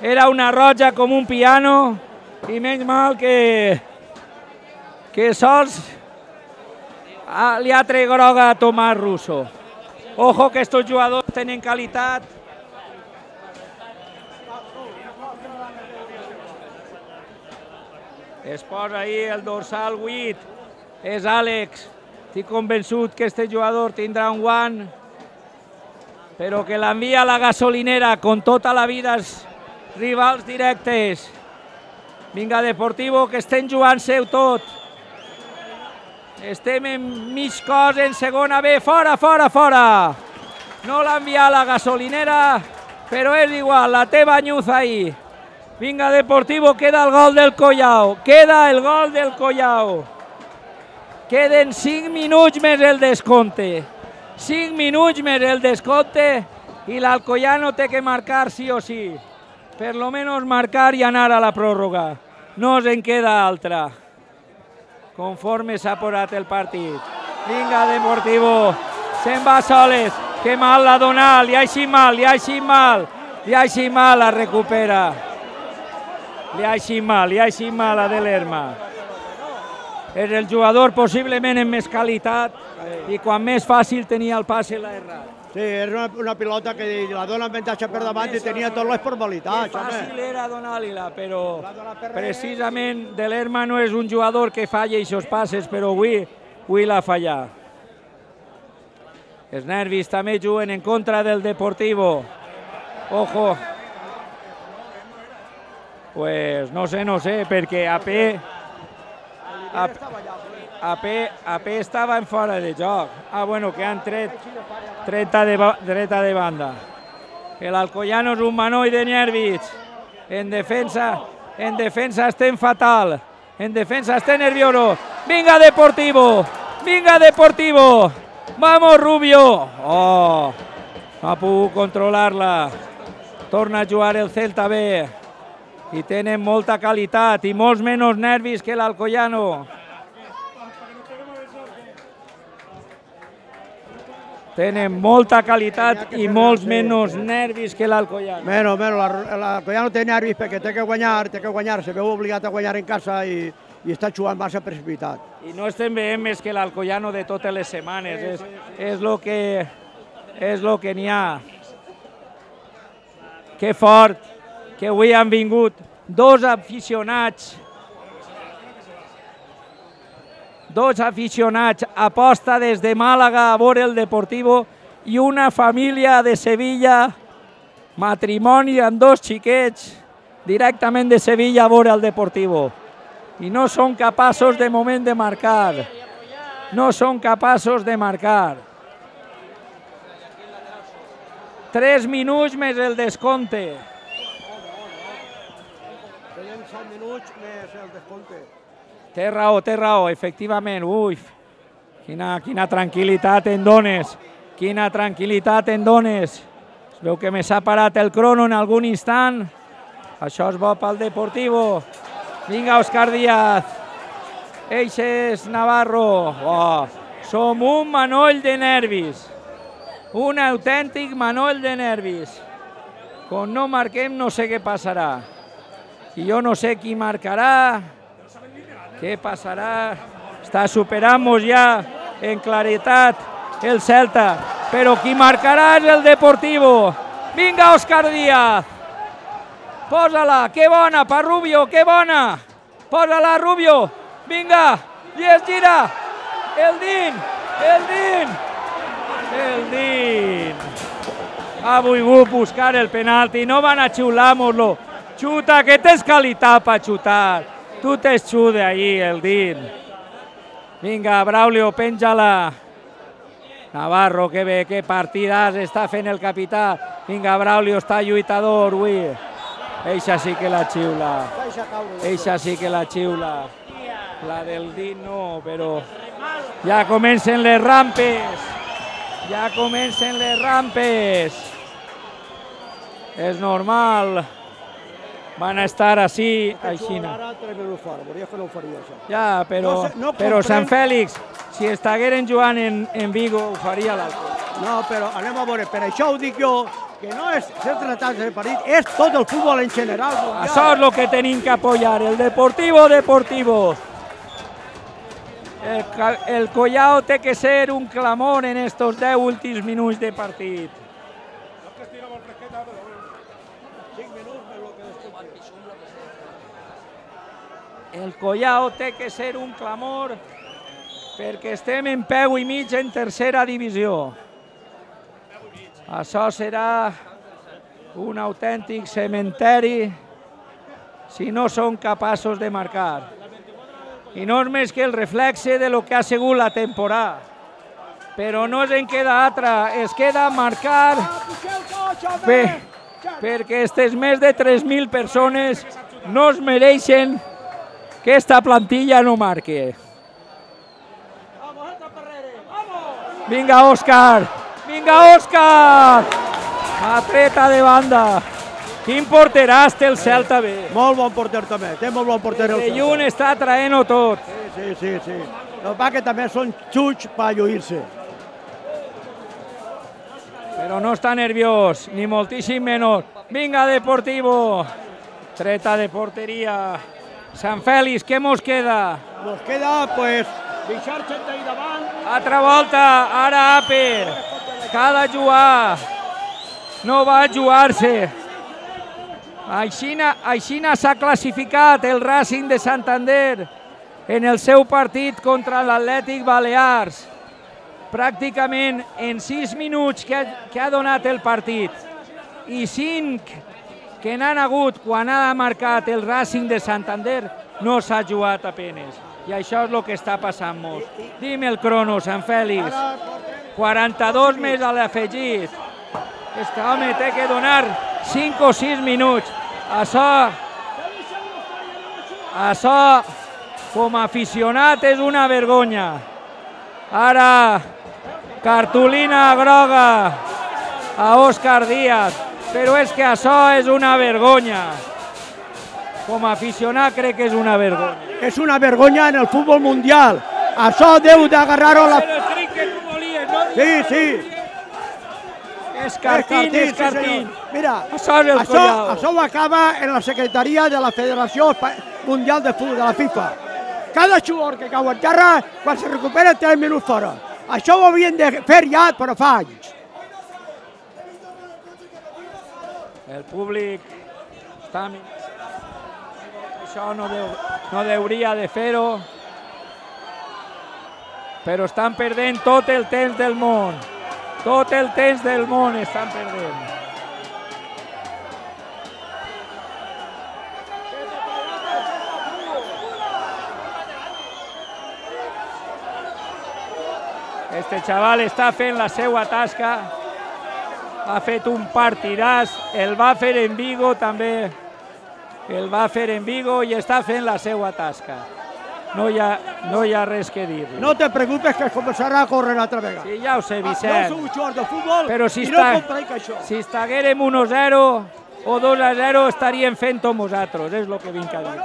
S1: Era una roja com un piano i menys mal que sols li ha tret groga a Tomás Russo. Ojo que estos jugadors tenen qualitat. Es posa ahí el dorsal 8, és Àlex. Estic convençut que este jugador tindrà un guant, però que l'envia a la gasolinera con tota la vida els rivals directes. Vinga, Deportivo, que estem jugant-se tot. Estem en mig cos, en segona B, fora! No l'envia a la gasolinera, però és igual, la té banyuz ahí. Vinga, Deportivo, queda el gol del Collao. Queden 5 minuts més el descompte. 5 minuts més el descompte i l'Alcoyano té que marcar sí o sí. Per lo menos marcar i anar a la pròrroga. No en queda altra. Conforme s'ha posat el partit. Vinga, Deportivo. Se'n va soles. Que mal l'ha donat. Li ha així mal. La recupera. Li ha així mal a Delerma. És el jugador possiblement amb més qualitat i quan més fàcil tenia el passe l'ha errat.
S2: Sí, és una pilota que la dona avantatge per davant i tenia totes les formalitats.
S1: Fàcil era donar-li-la, però precisament Delerma no és un jugador que falla aquests passes, però avui l'ha fallat. Els nervis també juguen en contra del Deportivo. Ojo. Pues no sé, perquè AP estava en fora de joc. Bueno, que han tret dreta de banda. L'Alcoyano és un manoll de nervis. En defensa estem fatal. En defensa estem nerviosos. Vinga, Deportivo! Vamos, Rubio! No ha pogut controlar-la. Torna a jugar el Celta B. I tenen molta qualitat i molts menys nervis que l'Alcoyano. Tenen molta qualitat i molts menys nervis que l'Alcoyano.
S2: L'Alcoyano té nervis perquè té que guanyar, se veu obligat a guanyar en casa i i està jugant massa precipitat.
S1: I no estem veient més que l'Alcoyano de totes les setmanes, és lo que n'hi ha. Que fort que avui han vingut dos aficionats aposta des de Màlaga a veure el Deportivo i una família de Sevilla, matrimoni amb dos xiquets directament de Sevilla a veure el Deportivo. I no són capaços de moment de marcar. No són capaços de marcar. 3 minuts més el descompte.
S2: Tenen 7 minuts més el descompte.
S1: Té raó, efectivament. Ui, quina tranquil·litat en dones. Quina tranquil·litat en dones. Es veu que me s'ha parat el crono en algun instant. Això és bo pel Deportivo. Vinga, Òscar Díaz. Eixes Navarro. Oh, som un manoll de nervis. Un autèntic manoll de nervis. Quan no marquem no sé què passarà. I jo no sé qui marcarà. Què passarà? Està superant-nos ja en claretat el Celta. Però qui marcarà és el Deportivo. Vinga, Òscar Díaz. Posa-la, que bona, per Rubio, que bona. Posa-la, Rubio. Vinga, i es gira. El Din. Ha volgut buscar el penalti, no van a xiular-nos-lo. Xuta, que tens qualitat per xutar. Tu t'exude ahí, el Din. Vinga, Braulio, penja-la. Navarro, que bé, que partidàs està fent el capità. Vinga, Braulio, està lluitador, ui. Eixa sí que la xiula. Eixa sí que la xiula. La del Din no, però ja comencen les rampes. Ja comencen les rampes. És normal. Van a estar així. Ja, però Sant Fèlix, si estigueren jugant en Vigo, ho faria l'altre.
S2: No, però anem a veure, per això ho dic jo, que no és ser tratats de partit, és tot el futbol en general.
S1: Això és el que tenim que apoyar, el Deportivo. El Collao té que ser un clamor en estos 10 últims minuts de partit. El Collao té que ser un clamor perquè estem en peu i mig en tercera divisió. Això serà un autèntic cementeri si no són capaços de marcar. I no és més que el reflexe de lo que ha sigut la temporada. Però no en queda altra, es queda marcar perquè aquestes més de 3.000 persones no es mereixen que esta plantilla no marque. Vinga, Òscar! Vinga, Òscar! Atreta de banda. Quin porteràs té el Celta bé.
S2: Molt bon porter també, té molt bon porter el Celta.
S1: De lluny està traient-ho tot.
S2: Sí. El que passa que també són xuts per lluir-se.
S1: Però no està nerviós, ni moltíssim menys. Vinga, Deportivo! Treta de porteria. Sant Fèlix, què mos queda?
S2: Nos queda, pues, deixar-se d'ahir davant.
S1: Altra volta, ara Aper. Que ha de jugar. No va jugar-se. Aixina s'ha classificat el Racing de Santander en el seu partit contra l'Atlètic Balears. Pràcticament en 6 minuts que ha donat el partit i 5 que n'han hagut quan ha marcat el Racing de Santander, no s'ha jugat apenes. I això és el que està passant-nos. Dime el crono, Sant Fèlix. 42 més a l'afegit. Este home té que donar 5 o 6 minuts. Això, com a aficionat, és una vergonya. Ara, cartolina groga a Òscar Díaz. Però és que això és una vergonya. Com a aficionat crec que és una vergonya.
S2: És una vergonya en el futbol mundial. Això deu d'agarrar-ho a la... Sí.
S1: És cartín.
S2: Mira, això ho acaba en la secretaria de la Federació Mundial de Futbol, de la FIFA. cada jugador que cau en terra, quan se recupera 3 minuts fora. Això ho havien de fer ja, però fa anys.
S1: El públic està... Això no hauria de fer-ho, però estan perdent tot el temps del món. Tot el temps del món estan perdent. Este xaval està fent la seva tasca, ha fet un partidàs, el va fer en Vigo també, el va fer en Vigo i està fent la seva tasca. No hi ha res que dir.
S2: No te preocupes que començarà a córrer altra vegada.
S1: Sí, ja ho sé, Vicent.
S2: No sou jugador de futbol
S1: però
S2: i no compraic això.
S1: Si estiguérem 1-0 o 2-0 estaríem fent-ho nosaltres, és el que vinc a dir.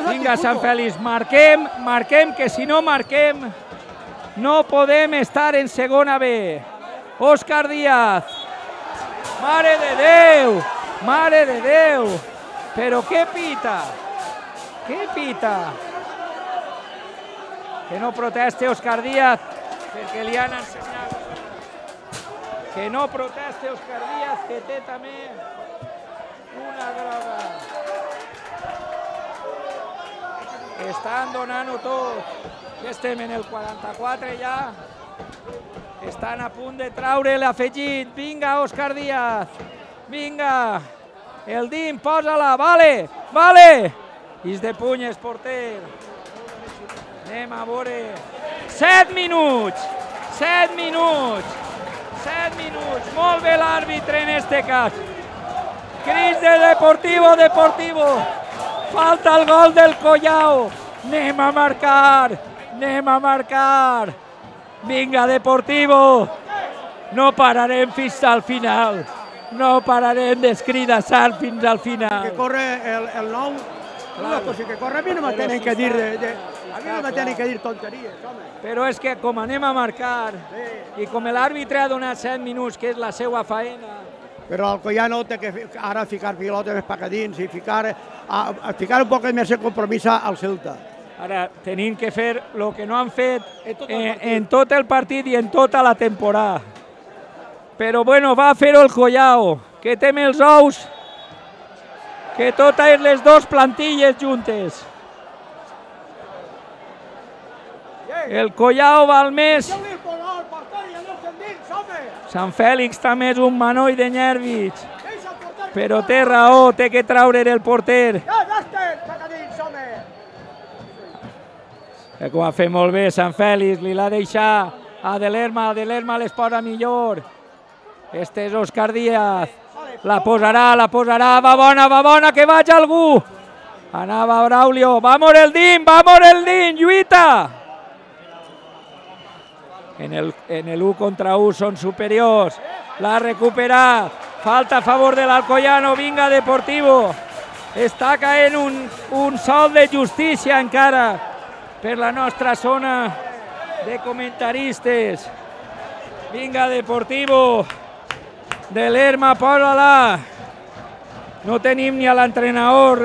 S1: Vinga, Sant Fèlix, marquem, que si no marquem no podem estar en segona B. Òscar Díaz. Mare de Déu! Mare de Déu! Però què pita? Què pita? Que no proteste Òscar Díaz, perquè li han ensenyat. Que no proteste Òscar Díaz, que té també una groga. Estan donant-ho tot. Ja estem en el 44 ja. Estan a punt de treure l'afegit. Vinga, Òscar Díaz. Vinga. El Dim, posa-la. Vale, vale. Is de punyes, porter. Anem a veure. 7 minuts. 7 minuts. 7 minuts. Molt bé l'àrbitre en este cas. Cris de Deportivo. Falta el gol del Collao. Anem a marcar. Anem a marcar. Vinga, Deportivo. No pararem fins al final. No pararem d'escridassar fins al final.
S2: Que corre el 9. Una cosa que corre, a mi no me tenen que dir a mi no me tenen que dir tonteries, home.
S1: Però és que com anem a marcar i com l'àrbitre ha donat 7 minuts, que és la seva faena.
S2: Però el Collano té que ara ficar pilota més per dins i ficar un poc més de compromís al Celta.
S1: Ara tenim que fer el que no han fet en tot el partit i en tota la temporada. Però bueno, va fer-ho el Collao, que té els ous, que totes les dues plantilles juntes. El Collao val més. Sant Fèlix també és un manoll de nervis, però té raó, té que treure el porter. Que ho ha fet molt bé Sant Fèlix, li l'ha deixat a De Lerma les posa millor. Este és Òscar Díaz, la posarà, va bona, que vaig algú. Anava Braulio, vamos el Dim, lluita. En el 1 contra 1 són superiors, l'ha recuperat, falta a favor de l'Alcoyano, vinga Deportivo. Està caent un sol de justícia encara per la nostra zona de comentaristes. Vinga Deportivo, De Lerma, posa-la. No tenim ni a l'entrenador,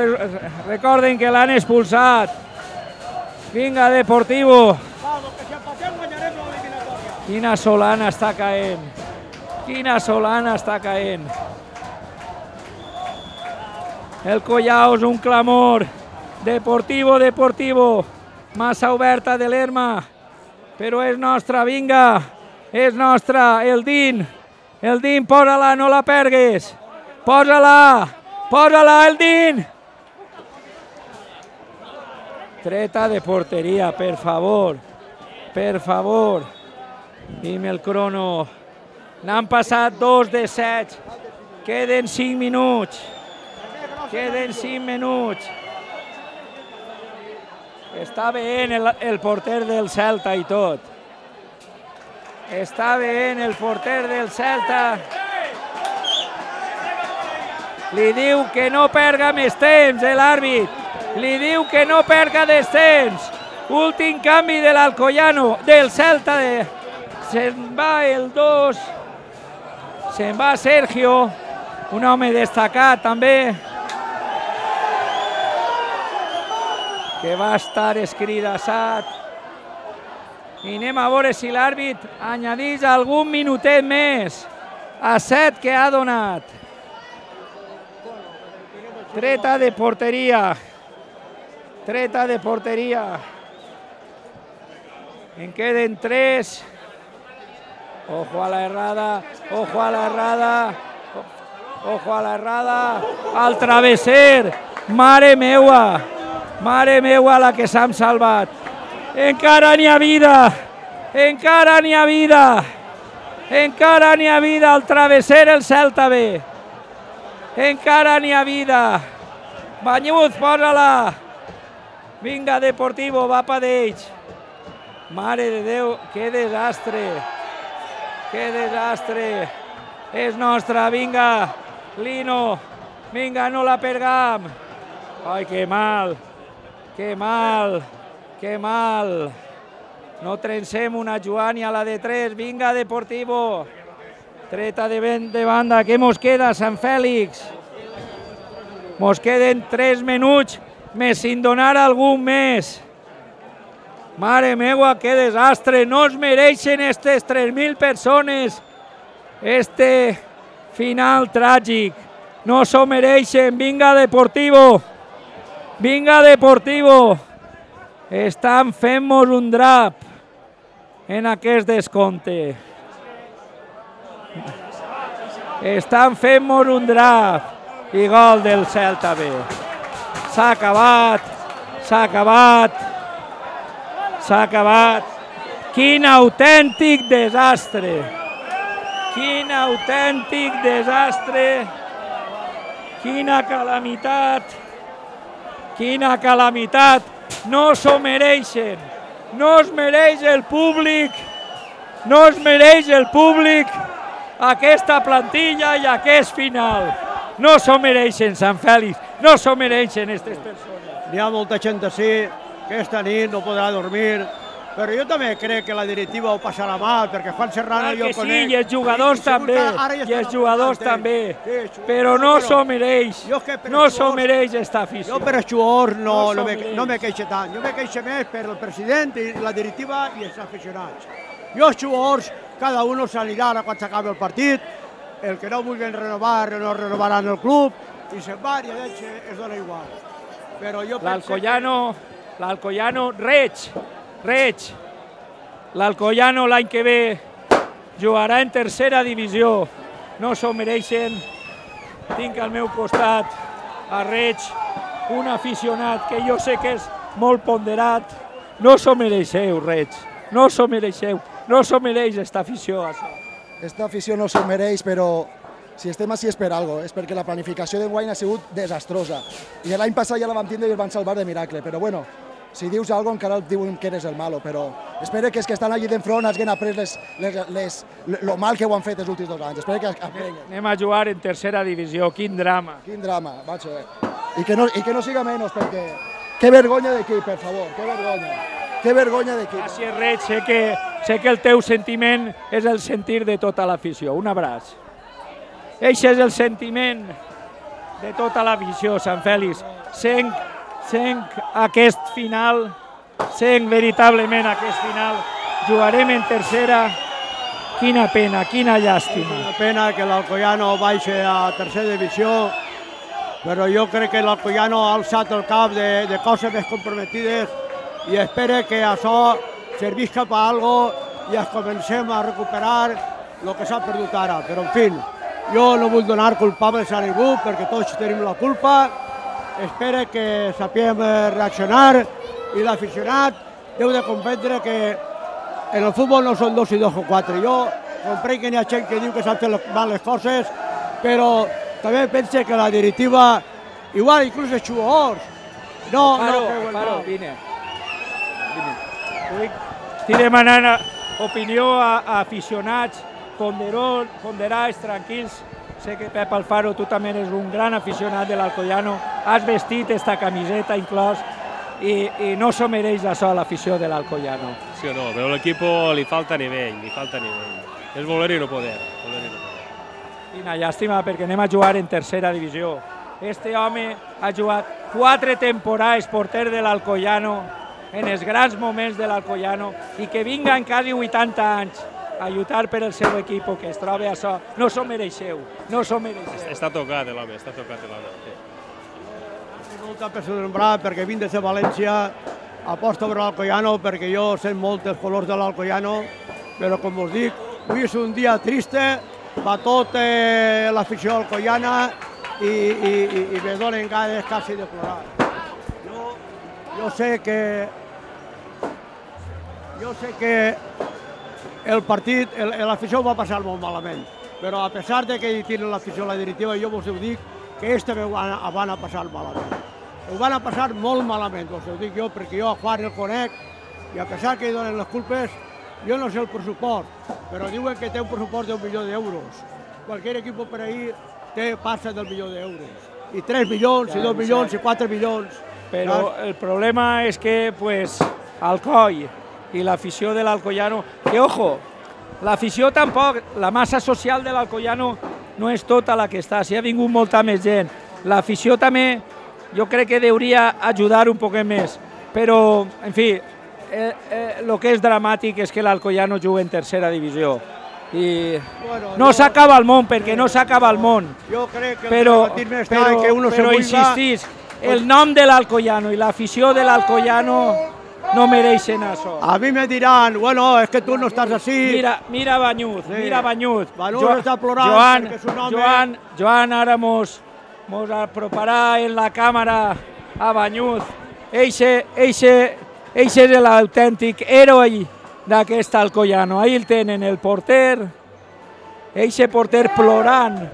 S1: recorden que l'han expulsat. Vinga Deportivo. Quina solana està caent. Quina solana està caent. El Collao és un clamor. Deportivo. Massa oberta De Lerma. Però és nostra, vinga. És nostra, el Din, posa-la, no la pergues. Posa-la, el Din. Treta de porteria, per favor. Dime el crono. N'han passat 2 de 7. Queden 5 minuts. Està veient el porter del Celta i tot. Està veient el porter del Celta. Li diu que no perga més temps, l'àrbit. Li diu que no perga més temps. Últim canvi de l'Alcoyano, del Celta. Se'n va el 2. Se'n va Sergio, un home destacat també. que va estar escridassat. I anem a veure si l'àrbit añadeix algun minutet més a 7 que ha donat. Treta de porteria. Treta de porteria. En queden 3. Ojo a la errada, ojo a la errada, ojo a la errada. Al travesser. Mare meua la que s'han salvat. Encara n'hi ha vida, encara n'hi ha vida, encara n'hi ha vida al travesser el Celta B. Encara n'hi ha vida. Banyuz, posa-la. Vinga, Deportivo, va pa d'ells. Mare de Déu, que desastre. Que desastre. És nostra, vinga. Lino, vinga, no la perdam. Ai, que mal, que mal, que mal. No trencem una Joan i a la de 3. Vinga, Deportivo. Treta de banda. Què mos queda, Sant Fèlix? Mos queden 3 minuts més sin donar algun més. Mare meua, que desastre. No es mereixen aquestes 3.000 persones este final tràgic. No s'ho mereixen. Vinga, Deportivo. Vinga, Deportivo. Estan fent-nos un drap en aquest descompte. Estan fent-nos un drap. I gol del Celta B. S'ha acabat. S'ha acabat. S'ha acabat. Quin autèntic desastre. Quin autèntic desastre. Quina calamitat. Quina calamitat. No s'ho mereixen. No es mereix el públic. No es mereix el públic aquesta plantilla i aquest final. No s'ho mereixen, Sant Fèlix. No s'ho mereixen aquestes persones.
S2: N'hi ha molta gent així que aquesta nit no podrà dormir, però jo també crec que la directiva ho passarà mal, perquè Juan Serrano jo conec...
S1: Sí, i els jugadors també, i els jugadors també, però no s'ho mereix, no s'ho mereix aquesta afició.
S2: Jo per els jugadors no me queixo tant, jo me queixo més per el president i la directiva i els aficionats. Jo els jugadors, cada un s'anirà quan s'acabi el partit, el que no vulguin renovar, no renovaran el club, i se'n va i a ells es dona igual.
S1: L'Alcoyano, Reig, l'Alcoyano l'any que ve jugarà en tercera divisió, no s'ho mereixen. Tinc al meu costat a Reig, un aficionat que jo sé que és molt ponderat. No s'ho mereixeu, Reig, no s'ho mereixeu, no s'ho mereix esta afició.
S3: Esta afició no s'ho mereix, però si estem així és per alguna cosa, és perquè la planificació d'enguany ha sigut desastrosa. I l'any passat ja la vam tindre i es van salvar de miracle, però bueno, si dius alguna cosa encara et diuen que eres el malo, però espero que els que estan allí d'enfront hagin après lo mal que ho han fet els últims 2 anys. Espero que aprenguin.
S1: Anem a jugar en tercera divisió, quin drama.
S3: Quin drama, vaig a veure. I que no siga menys, perquè que vergonya d'equip, per favor, que vergonya. Que vergonya d'equip.
S1: Gràcies, Reig, sé que el teu sentiment és el sentir de tota l'afició. Un abraç. Eixe és el sentiment de tota l'afició, Sant Fèlix. Senc aquest final, senc veritablement aquest final. Jugarem en tercera. Quina pena, quina llàstima.
S2: Una pena que l'Alcoyano baixi a tercera divisió, però jo crec que l'Alcoyano ha alçat el cap de coses més comprometides i espero que això servisca per alguna cosa i es comencem a recuperar el que s'ha perdut ara. Però, en fi, jo no vull donar culpables a ningú perquè tots tenim la culpa. Espero que sapiguem reaccionar i l'aficionat deu de comprendre que en el futbol no són 2 i 2 o 4. Jo comprenc que n'hi ha gent que diu que s'han fet mal les coses, però també penso que la directiva, igual inclús els jugadors, no creuen mal.
S1: Vine. Estic demanant opinió a aficionats ponderats, tranquils. Sé que Pep Alfaro, tu també eres un gran aficionat de l'Alcoyano, has vestit esta camiseta inclòs i no s'ho mereix això l'afició de l'Alcoyano.
S4: Sí o no, però a l'equip li falta nivell, És voler i no poder.
S1: Quina llàstima, perquè anem a jugar en tercera divisió. Este home ha jugat 4 temporades porter de l'Alcoyano, en els grans moments de l'Alcoyano, i que vinga en quasi 80 anys a lluitar per el seu equip, que es troba a això, no s'ho mereixeu, no s'ho mereixeu.
S4: Està tocat l'home, està tocat l'home.
S2: Estic molt apessombrat perquè vinc des de València, aposto per l'Alcoyano perquè jo sent molt els colors de l'Alcoyano, però com us dic, avui és un dia triste, va tota l'afició alcoiana i me donen ganes quasi de plorar. Jo sé que el partit, l'afició va passar molt malament, però a pesar de que hi tenen l'afició a la directiva, jo vos ho dic que també van a passar malament. Ho van a passar molt malament, vos ho dic jo, perquè jo a Juan el conec i a pesar que hi donen les culpes, jo no sé el pressupost, però diuen que té un pressupost d'1 milió d'euros. Qualsevol equip per ahir passa del milió d'euros. I 3 milions, i 2 milions, i 4 milions.
S1: Però el problema és que, Alcoi i l'afició de l'Alcoyano, que, ojo, l'afició tampoc, la massa social de l'Alcoyano no és tota la que està, s'hi ha vingut molta més gent. L'afició també, jo crec que hauria ajudar un poc més, però, en fi, el que és dramàtic és que l'Alcoyano juga en tercera divisió. I no s'acaba el món, perquè no s'acaba el món.
S2: Jo crec que
S1: però insistís, el nom de l'Alcoyano i l'afició de l'Alcoyano no mereixen això.
S2: A mi me diran, bueno, és que tu no estàs així.
S1: Mira Banyuz, mira Banyuz.
S2: Banyuz està plorant perquè és un home...
S1: Joan ara mos aproparà en la càmera a Banyuz. Eixe és l'autèntic heroi d'aquest Alcoyano. Ahí el tenen, el porter. Eixe porter plorant.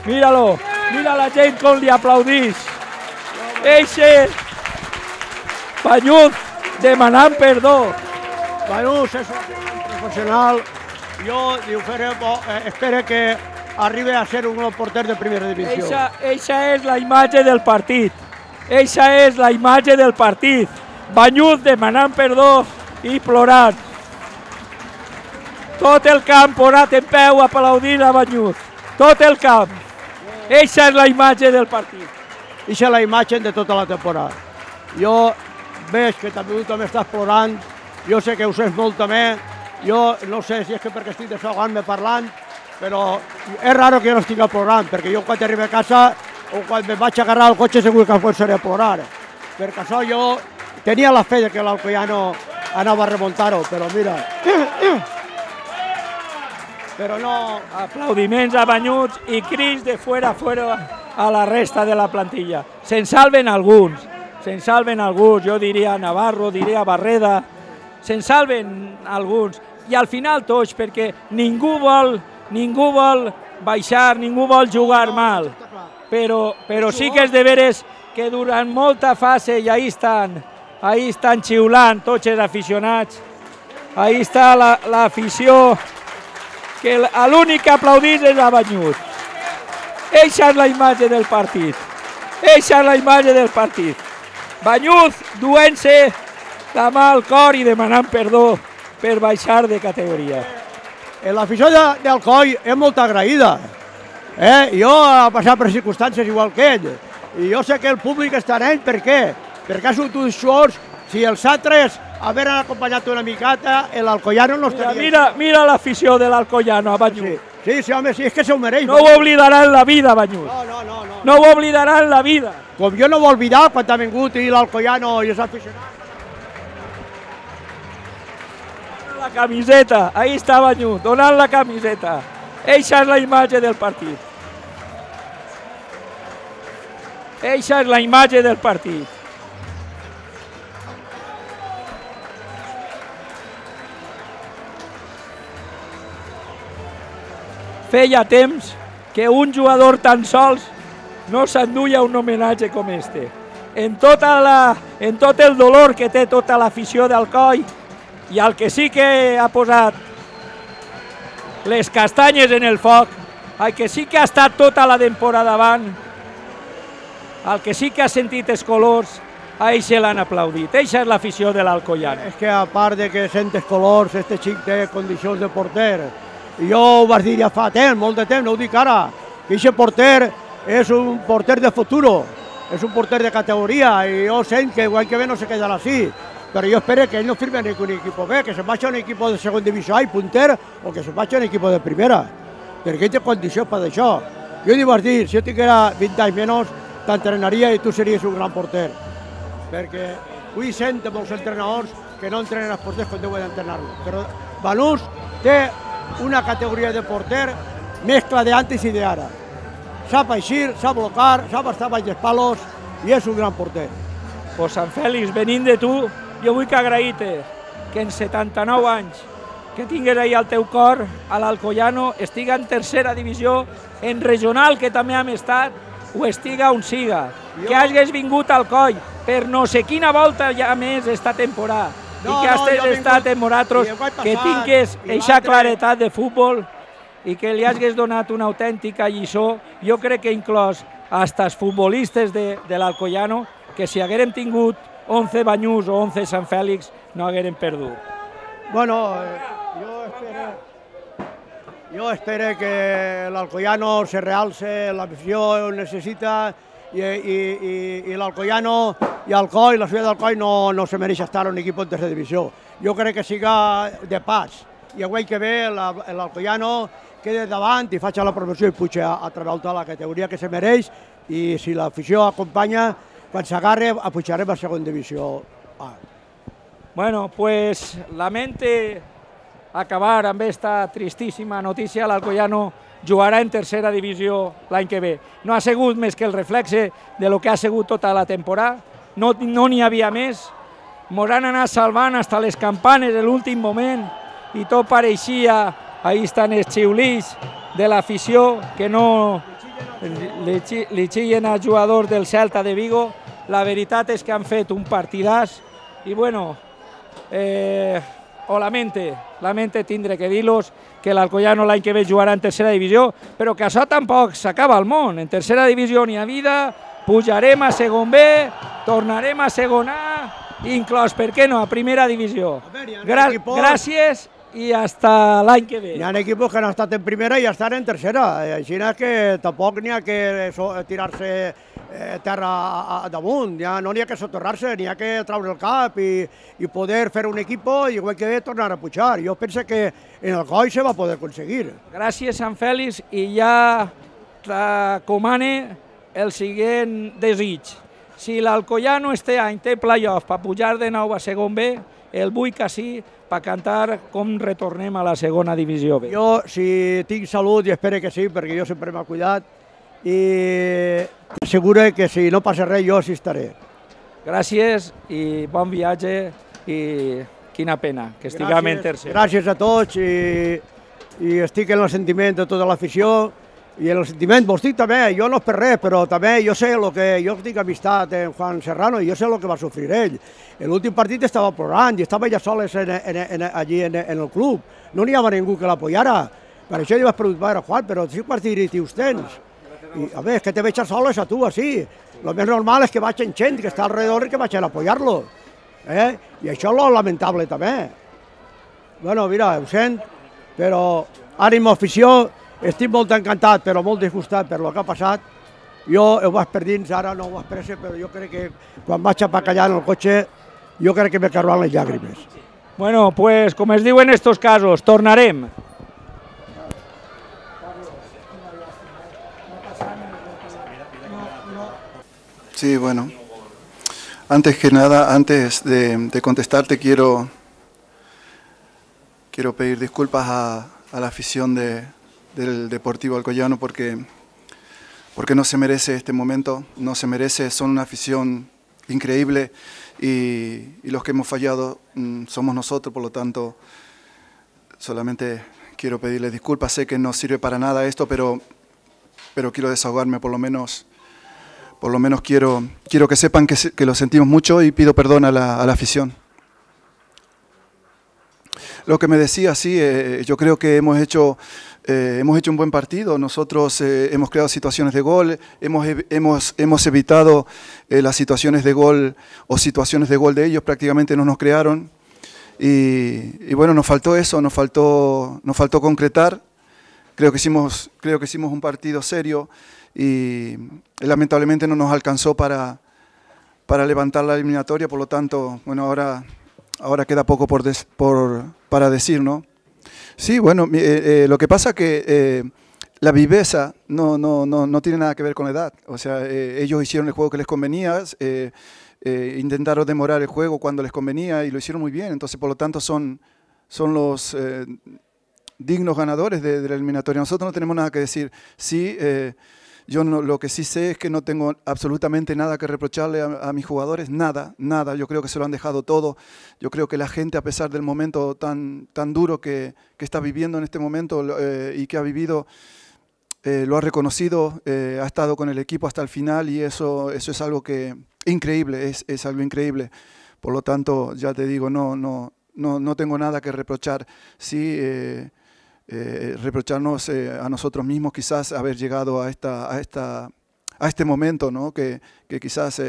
S1: Míralo. Mira la gent com li aplaudís. Eixe Banyuz demanant perdó.
S2: Banyuz és un professional. Jo espero que arribi a ser un porter de primera divisió.
S1: Eixa és la imatge del partit. Eixa és la imatge del partit. Banyuz demanant perdó i plorant. Tot el camp posat en peu aplaudint a Banyuz. Tot el camp. Eixa és la imatge del partit.
S2: Eixa és la imatge de tota la temporada. Jo veig que també tu també estàs plorant. Jo sé que ho sents molt també. Jo no sé si és que perquè estic desahogant-me parlant, però és raro que jo no estigui plorant, perquè jo quan arribo a casa o quan me vaig agarrar el cotxe segur que començaré a plorar. Perquè això jo tenia la fe que l'Alcoyano anava a remuntar-ho, però mira... Però no...
S1: Aplaudiments a Banyuz i crits de fora a la resta de la plantilla. Se'n salven alguns, jo diria Navarro, diria Barreda, se'n salven alguns. I al final tots, perquè ningú vol baixar, ningú vol jugar mal. Però sí que és de veres que durant molta fase i ahí estan xiulant tots els aficionats. Ahí està l'afició, que l'únic que aplaudís és a Banyuz. Eixa és la imatge del partit. Banyuz duent-se la mà al cor i demanant perdó per baixar de categoria.
S2: L'afició d'Alcoi és molt agraïda. Jo he passat per circumstàncies igual que ell. I jo sé que el públic està en ell, per què? Perquè ha sigut uns suors, si els altres haveren acompanyat una miqueta, l'Alcoyano no estaria...
S1: Mira l'afició de l'Alcoyano a Banyuz.
S2: Sí, home, sí, és que s'ho mereix.
S1: No ho oblidarà en la vida, Banyuz.
S2: No.
S1: No ho oblidarà en la vida.
S2: Com jo no ho oblidar quan ha vingut l'Alcoyano i els aficionats.
S1: La camiseta, ahí està Banyuz, donant la camiseta. Eixa és la imatge del partit. Feia temps que un jugador tan sols no s'enduia un homenatge com este. En tot el dolor que té tota l'afició d'Alcoi, i el que sí que ha posat les castanyes en el foc, el que sí que ha estat tota la temporada davant, el que sí que ha sentit els colors, a ell se l'han aplaudit. Eixa és l'afició de l'Alcoyano.
S2: És que a part de que sent els colors, este xic té condicions de porter. I jo ho vaig dir ja fa temps, molt de temps, no ho dic ara, que aquest porter és un porter de futuro, és un porter de categoria i jo sent que l'any que ve no se quedarà així, però jo espero que ell no firmi en un equip B, que se'n vagi a un equip de segona divisió A i punter o que se'n vagi a un equip de primera, perquè ell té condicions per això. Jo li vaig dir, si jo tinguera 20 anys menys, t'entrenaria i tu series un gran porter, perquè avui sent molts entrenadors que no entrenen els porters com deuen entrenar-los, però Banús té una categoria de porter mescla d'antes i d'ara. Sap eixir, sap blocar, sap estar baix dels palos i és un gran porter.
S1: Pues Sant Fèlix, venint de tu, jo vull que agrair-te que en 79 anys que tingues ahir al teu cor, a l'Alcoyano, estiga en tercera divisió, en regional, que també hem estat, o estiga on siga. Que hagis vingut al Coll per no sé quina volta ja més esta temporada, i que has estat en Moratros, que tingues eixa claretat de futbol i que li hagis donat una autèntica lliçó. Jo crec que inclòs hasta els futbolistes de l'Alcoyano, que si haguérem tingut 11 Banyús o 11 Sant Fèlix, no haguérem perdut.
S2: Bueno, jo espero que l'Alcoyano se realce, l'afició ho necessita i l'Alcoyano i el Coll, la ciutat del Coll no se mereix estar en un equip en tercera divisió. Jo crec que siga de pas i el que ve l'Alcoyano queda davant i faci la promoció i puja a través de la categoria que se mereix, i si l'afició acompanya, quan s'agarre, pujarem a segona divisió A.
S1: Bueno, pues lamente acabar amb esta tristíssima notícia. L'Alcoyano jugarà en tercera divisió l'any que ve. No ha sigut més que el reflexe de lo que ha sigut tota la temporada. No n'hi havia més. Mos han anat salvant fins a les campanes en l'últim moment i tot pareixia, ahí estan els xiulits de l'afició, que no li xillen als jugadors del Celta de Vigo. La veritat és que han fet un partidàs i bueno, lamente tindre que dir-los que l'Alcoyano l'any que ve jugarà en tercera divisió, però que això tampoc s'acaba al món. En tercera divisió n'hi ha vida, pujarem a segon B, tornarem a segon A, inclòs, per què no, a primera divisió. Gràcies i hasta l'any que ve.
S2: Hi ha equips que han estat en primera i estan en tercera, així que tampoc n'hi ha que tirar-se terra damunt, no n'hi ha que soterrar-se, n'hi ha que treure el cap i poder fer un equip i igual que tornar a pujar. Jo penso que en el Coll se va poder aconseguir.
S1: Gràcies, Sant Fèlix, i ja recomane el següent desig. Si l'Alcoyano este any té playoff per pujar de nou a segon B, el vull que sí, per cantar com retornem a la segona divisió B.
S2: Jo, si tinc salut, i espero que sí, perquè jo sempre m'he cuidat, i t'asseguro que si no passa res, jo sí estaré.
S1: Gràcies i bon viatge i quina pena que estiguem en tercer.
S2: Gràcies a tots i estic en el sentiment de tota l'afició i en el sentiment, vos dic també, jo no és per res, però també jo sé el que, jo tinc amistat en Juan Serrano i jo sé el que va sofrir ell. L'últim partit estava plorant i estava ja soles allí en el club. No n'hi havia ningú que l'apoyara. Per això li vaig preguntar a Juan, però si quants diritius tens? I, a veure, és que te veig soles a tu, així. El més normal és que vaig en gent que està alrededor i que vaig a apoyar-lo. I això és lo lamentable també. Bueno, mira, ho sent, però ànimo, afició, estic molt encantat, però molt disgustat per el que ha passat. Jo ho vaig per dins, ara no ho vaig pressa, però jo crec que quan vaig a callar en el cotxe, jo crec que me carran les llàgrimes.
S1: Bueno, pues, com es diu en estos casos, tornarem.
S5: Sí, bueno. Antes que nada, antes de contestarte, quiero pedir disculpas a la afición del Deportivo Alcoyano porque no se merece este momento, no se merece, son una afición increíble y los que hemos fallado somos nosotros, por lo tanto, solamente quiero pedirles disculpas. Sé que no sirve para nada esto, pero quiero desahogarme, por lo menos quiero que sepan que lo sentimos mucho y pido perdón a la afición. Lo que me decía, sí, yo creo que hemos hecho un buen partido. Nosotros hemos creado situaciones de gol, hemos evitado las situaciones de gol o situaciones de gol de ellos, prácticamente no nos crearon. Y bueno, nos faltó eso, nos faltó concretar. creo que hicimos un partido serio y lamentablemente no nos alcanzó para levantar la eliminatoria, por lo tanto, bueno, ahora queda poco para decir, ¿no? Sí, bueno, lo que pasa que la viveza no tiene nada que ver con la edad. O sea, ellos hicieron el juego que les convenía, intentaron demorar el juego cuando les convenía y lo hicieron muy bien. Entonces, por lo tanto, son los dignos ganadores de la eliminatoria. Nosotros no tenemos nada que decir. Sí, yo lo que sí sé es que no tengo absolutamente nada que reprocharle a mis jugadores, nada. Yo creo que se lo han dejado todo. Yo creo que la gente, a pesar del momento tan duro que está viviendo en este momento y que ha vivido, lo ha reconocido, ha estado con el equipo hasta el final y eso es algo increíble, es algo increíble. Por lo tanto, ya te digo, no tengo nada que reprochar. Sí, reprocharnos a nosotros mismos quizás haber llegado a este momento, ¿no? que quizás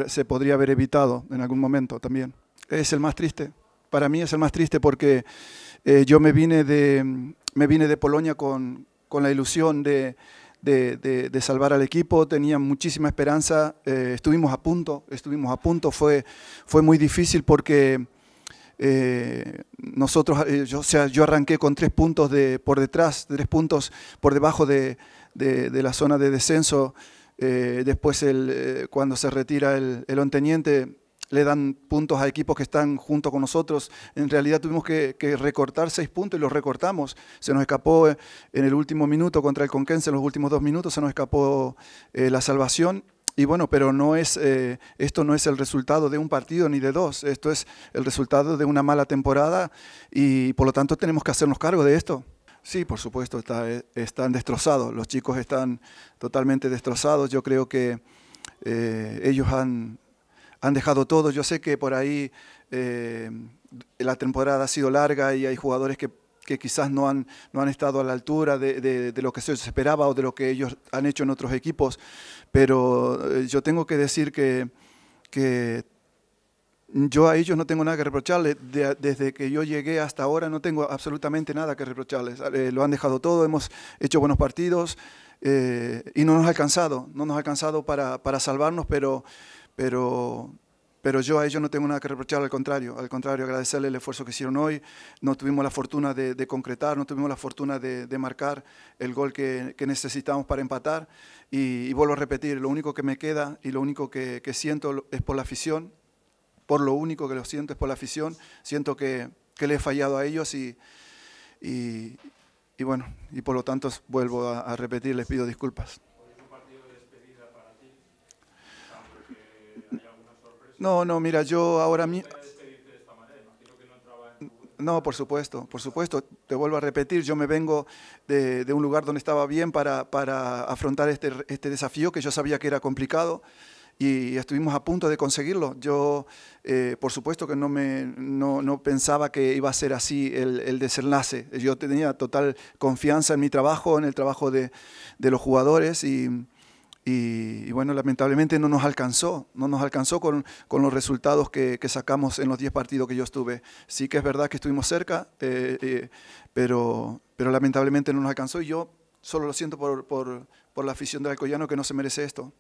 S5: se podría haber evitado en algún momento también. Es el más triste, para mí es el más triste porque yo me vine de Polonia con la ilusión de salvar al equipo, tenía muchísima esperanza, estuvimos a punto, fue muy difícil porque yo arranqué con 3 puntos por detrás, 3 puntos por debajo de la zona de descenso. Después cuando se retira el Onteniente le dan puntos a equipos que están junto con nosotros. En realidad tuvimos que recortar 6 puntos y los recortamos. Se nos escapó en el último minuto contra el Conquense, en los últimos 2 minutos se nos escapó la salvación. Y bueno, pero esto no es el resultado de un partido ni de 2, esto es el resultado de una mala temporada y por lo tanto tenemos que hacernos cargo de esto. Sí, por supuesto, están destrozados, los chicos están totalmente destrozados, yo creo que ellos han dejado todo, yo sé que por ahí la temporada ha sido larga y hay jugadores que quizás no han estado a la altura de lo que se esperaba o de lo que ellos han hecho en otros equipos, pero yo tengo que decir que yo a ellos no tengo nada que reprocharles. Desde que yo llegué hasta ahora no tengo absolutamente nada que reprocharles. Lo han dejado todo, hemos hecho buenos partidos y no nos ha alcanzado para salvarnos, pero yo a ellos no tengo nada que reprochar, al contrario, agradecerles el esfuerzo que hicieron hoy. No tuvimos la fortuna de concretar, no tuvimos la fortuna de marcar el gol que necesitamos para empatar. Y vuelvo a repetir, lo único que me queda y lo único que siento es por la afición, siento que le he fallado a ellos y bueno, y por lo tanto vuelvo a repetir, les pido disculpas. No, mira, yo ahora mismo... No, por supuesto, te vuelvo a repetir, yo me vengo de un lugar donde estaba bien para afrontar este desafío que yo sabía que era complicado y estuvimos a punto de conseguirlo. Yo, por supuesto que no pensaba que iba a ser así el desenlace. Yo tenía total confianza en mi trabajo, en el trabajo de los jugadores y bueno, lamentablemente no nos alcanzó con los resultados que sacamos en los 10 partidos que yo estuve. Sí que es verdad que estuvimos cerca, pero lamentablemente no nos alcanzó y yo solo lo siento por la afición del Alcoyano que no se merece esto.